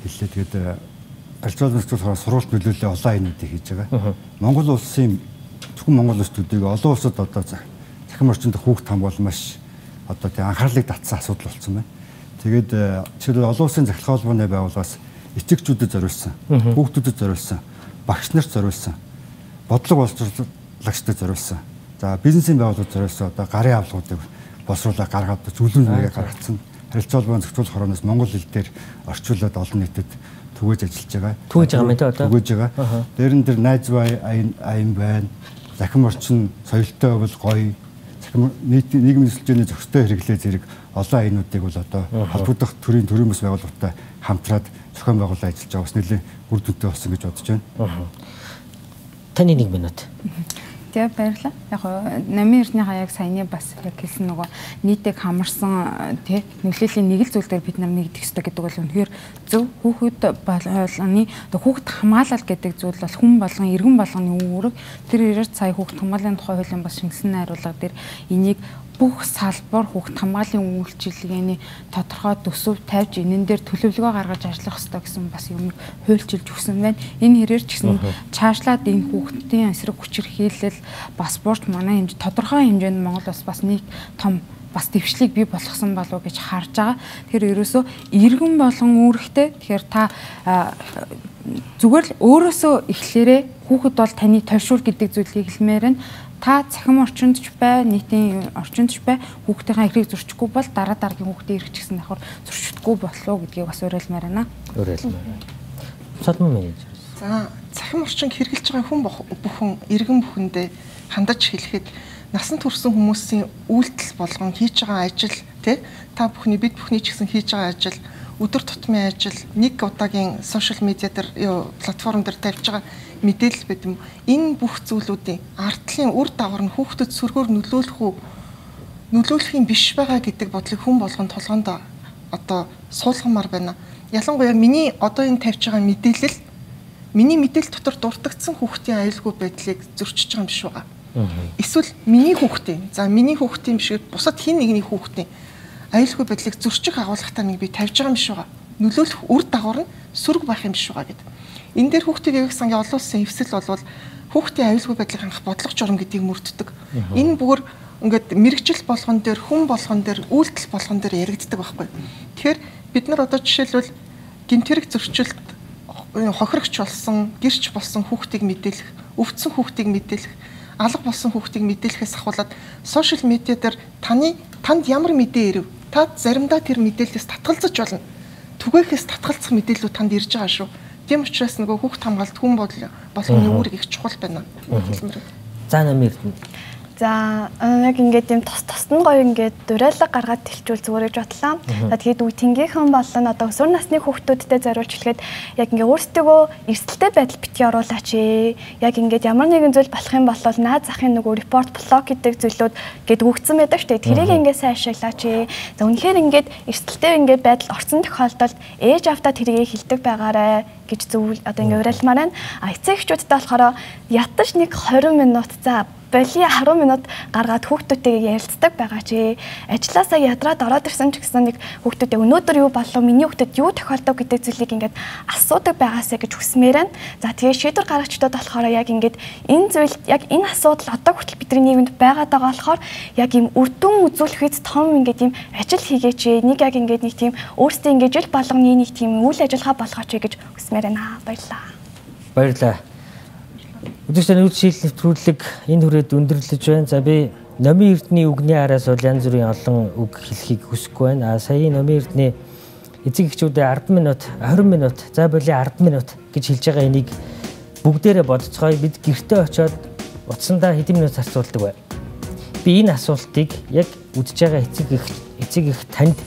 хэллээ. Тэгээд альчуул зөвхөн сурвалт нөлөөллийн олон аянуудыг хийж байгаа. Монгол улсын зөвхөн Монгол улс төдийгүй олон улсад одоо захин орчинд хүүхд хамгаал маш одоо тийм анхаарлыг татсан асуудал болсон байна. Тэгээд жишээлбэл олон улсын захирал холбооны байгууллагаас эцэгчүүдэд зориулсан, хүүхдүүдэд зориулсан, багш нарт зориулсан, бодлого боловсруулагчдад зориулсан. За бизнесийн байгууллагууд зориулсан одоо гарын авлагуудыг боловсруулах гаргаад зөвлөм нэгээ гаргацсан. Харилцаа холбооны зохицуулах хорооноос монгол хэл дээр орчуулад олон нийтэд түгээж ажиллаж байгаа. Түгээж байгаа юм тий одоо. Түгээж байгаа. Дээр нь тэр найз бай аян байна. Захин орчин соёлтой бол гоё. Захин нийгмийн нөхцөлийн зохистой хэрэглээ зэрэг олон аянуудыг бол одоо холбогдох төрийн төрийн бас байгууллагатай хамтраад зохион байгуулалт ажиллаж байгаа бас нэлээд үр дүнтэй болсон гэж бодож байна. Таны нэг минут. Тэгээ баярлалаа. Яг намын эрдэнэ хаяг саяны бас яг хэлсэн нөгөө нийтийг хамарсан тий нөлөөллийн нэг л зүйл дээр бид нар нэгдэх ёстой гэдэг бол үнэхээр зөв. Хүүхэд болгоны хүүхэд хамгаалал гэдэг зүйл бол хүн болгон иргэн болгоны үүрэг. Тэр ирээд сая хүүхэд хамгааллын тухай хуулийн бас шингэсэн найруулга дээр энийг бүх салбар хүүхд хамгааллын үйлчилгээний тодорхой төсөв тавьж энэн дээр төлөвлөгөө гаргаж ажиллах хэрэгтэй гэсэн бас юм хуульчилж өгсөн байна. Энэ хэрээр ч гэсэн цаашлаад энэ хүүхдийн эсрэг хүчээр хийлэл бас борч манай хэмжээ тодорхой хэмжээнд Монгол бас бас нэг том бас дэвшлиг бий болгосон болов уу гэж харж байгаа. Тэгэхээр ерөөсөө иргэн болгон үүрэгтэй. Тэгэхээр та зүгээр л өөрөөсөө эхлээрээ хүүхэд бол таны тойшуул гэдэг зүйлийг хэлмээр нь та цахим орчинд ч бай, нийтийн орчинд ч бай хүүхдийнхээ эрхийг зөрчихгүй бол дараа дараагийн хүүхдийн эрх ч гэсэн давхар зөрчигдгүй болов гэдгийг бас уриалмаар байна. Уриалмаар байна. Цалмын менежер. За, цахим орчинг хэрэгжилж байгаа хүн бүхэн иргэн бүхэндээ хандаж хэлэхэд насанд хүрсэн хүмүүсийн үйлдэл болгон хийж байгаа ажил тий та бүхний бид бүхний ч гэсэн хийж байгаа ажил өдөр тутмын ажил нэг удаагийн сошиал медиа дээр платформ дээр тавьж байгаа мэдээлэл байт юм. Энэ бүх зүйлүүдийн ардлын үр дагавар нь хүүхдэд сөргөөр нөлөөлөх үү нөлөөлөх юм биш байгаа гэдэг бодлыг хүн болгон толгоонд одоо суулгамаар байна. Ялангуяа миний одоо энэ тавьж байгаа мэдээлэл миний мэдээлэл дотор дуртагдсан хүүхдийн аюулгүй байдлыг зөрчиж байгаа юм биш байгаа. Эсвэл миний хүүхдийн за миний хүүхдийн биш бусад хин нэгний хүүхдийн аюулгүй байдлыг зөрчих агуулгатай нэг би тавьж байгаа юм биш байгаа. нөлөөлөх үр дагавар нь сөрөг байх юм биш байгаа гэдэг. Энэ дээр хүүхдийн ивэх сангийн олон улсын эвсэл болвол хүүхдийн аюулгүй байдлыг хангах бодлого журам гэдгийг мөрддөг. Энэ бүр ингээд мэрэгжил болгон дээр, хүн болгон дээр, үйлдэл болгон дээр яригддаг байхгүй. Тэгэхээр бид нар одоо жишээлбэл гэмтэрэг зөрчилд хохирогч болсон, гэрч болсон хүүхдийг мэдээлэх, өвдсөн хүүхдийг мэдээлэх, алга болсон хүүхдийг мэдээлэхээс ахуулаад сошиал медиа дээр таны танд ямар мэдээ ирэв? Та заримдаа тэр мэдээлэлээс татгалзаж болно. Түгээхээс татгалзах мэдээлүүд танд ирж байгаа шүү. Тийм учраас нөгөө хүүхд хамгаалалт хүн болгоны үүрэг их чухал байна. За намын Эрдэнэ. За яг ингээд юм тос тост нь гоё ингээд дуриалга гаргаад хэлчихвэл зүгээр гэж бодлоо. За тэгээд үе тэнгийнхэн болон одоо өсвөр насны хүүхдүүдтэй зориулж хэлэхэд яг ингээд өөрсдөө эрсдэлтэй байдал битгий оруулаач ээ. Яг ингээд ямар нэгэн зүйл болох юм бол наад захын нөгөө репорт блог гэдэг зүйлүүд гээд өгцөн байдаг шүү дээ. Тэрийг ингээд сайн ашиглаач ээ. За үнэхээр ингээд эрсдэлтэй ингээд байдал орсон тохиолдолд ээж автаа тэрийг хэлдэг байгаарэ гэж зөв одоо ингээд уриалмаар байна. А эцэг эхчүүдтэй болохоор ятаж нэг двадцать минут за боли десять минут гаргаад хүүхдүүдтэйгээ ярилцдаг байгаа чи ажилласаа ядраад ороод ирсэн ч гэсэн нэг хүүхдүүдээ өнөөдөр юу болов миний хүүхдэд юу тохиолдов гэдэг зүйлийг ингээд асуудаг байгаасаа гэж хүсмээр байна. За тэгээ шийдвэр гаргагчдад болохоор яг ингээд энэ зүйл яг энэ асуудал одоо хүртэл бидний нийгэмд байгаад байгаа болохоор яг юм үрдүн үзүүлэхэд том ингээд юм ажил хийгээч нэг яг ингээд нэг тийм өөрсдөө ингээд жил болгоны нэг тийм үйл ажиллагаа болгооч гэж хүсмээр байна. Баярлалаа. Баярлалаа. Өдөртөө үйлчлэл нэвтрүүлэг энэ хүрээд өндөрлөж байна. За би номын Эрдэнэ үгний араас бол янз бүрийн олон үг хэлхийг хүсэхгүй байна. А сая номын Эрдэнэ эцэг эхчүүдэд десять минут, двадцать минут, за боли десять минут гэж хэлж байгаа энийг бүгдээрээ бодцгоё. Бид гэртээ очиод утсандаа хэдэн минут зарцуулдаг бай. Би энэ асуултыг яг үдж байгаа эцэг эх эцэг эх танд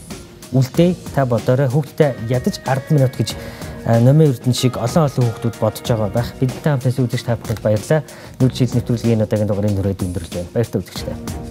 үлдээ та бодоорой. Хүүхдэд ядаж десять минут гэж номын Эрдэнэ шиг олон олон хүүхдүүд бодож байгаа байх. Бидэнтэй хамтаас үзэж та бүхэнд баярлалаа. Нүүр жил нэвтрүүлгийн удаагийн дугаарыг нүрээд өндөрлөж байна. Баяртай үзэгчдээ.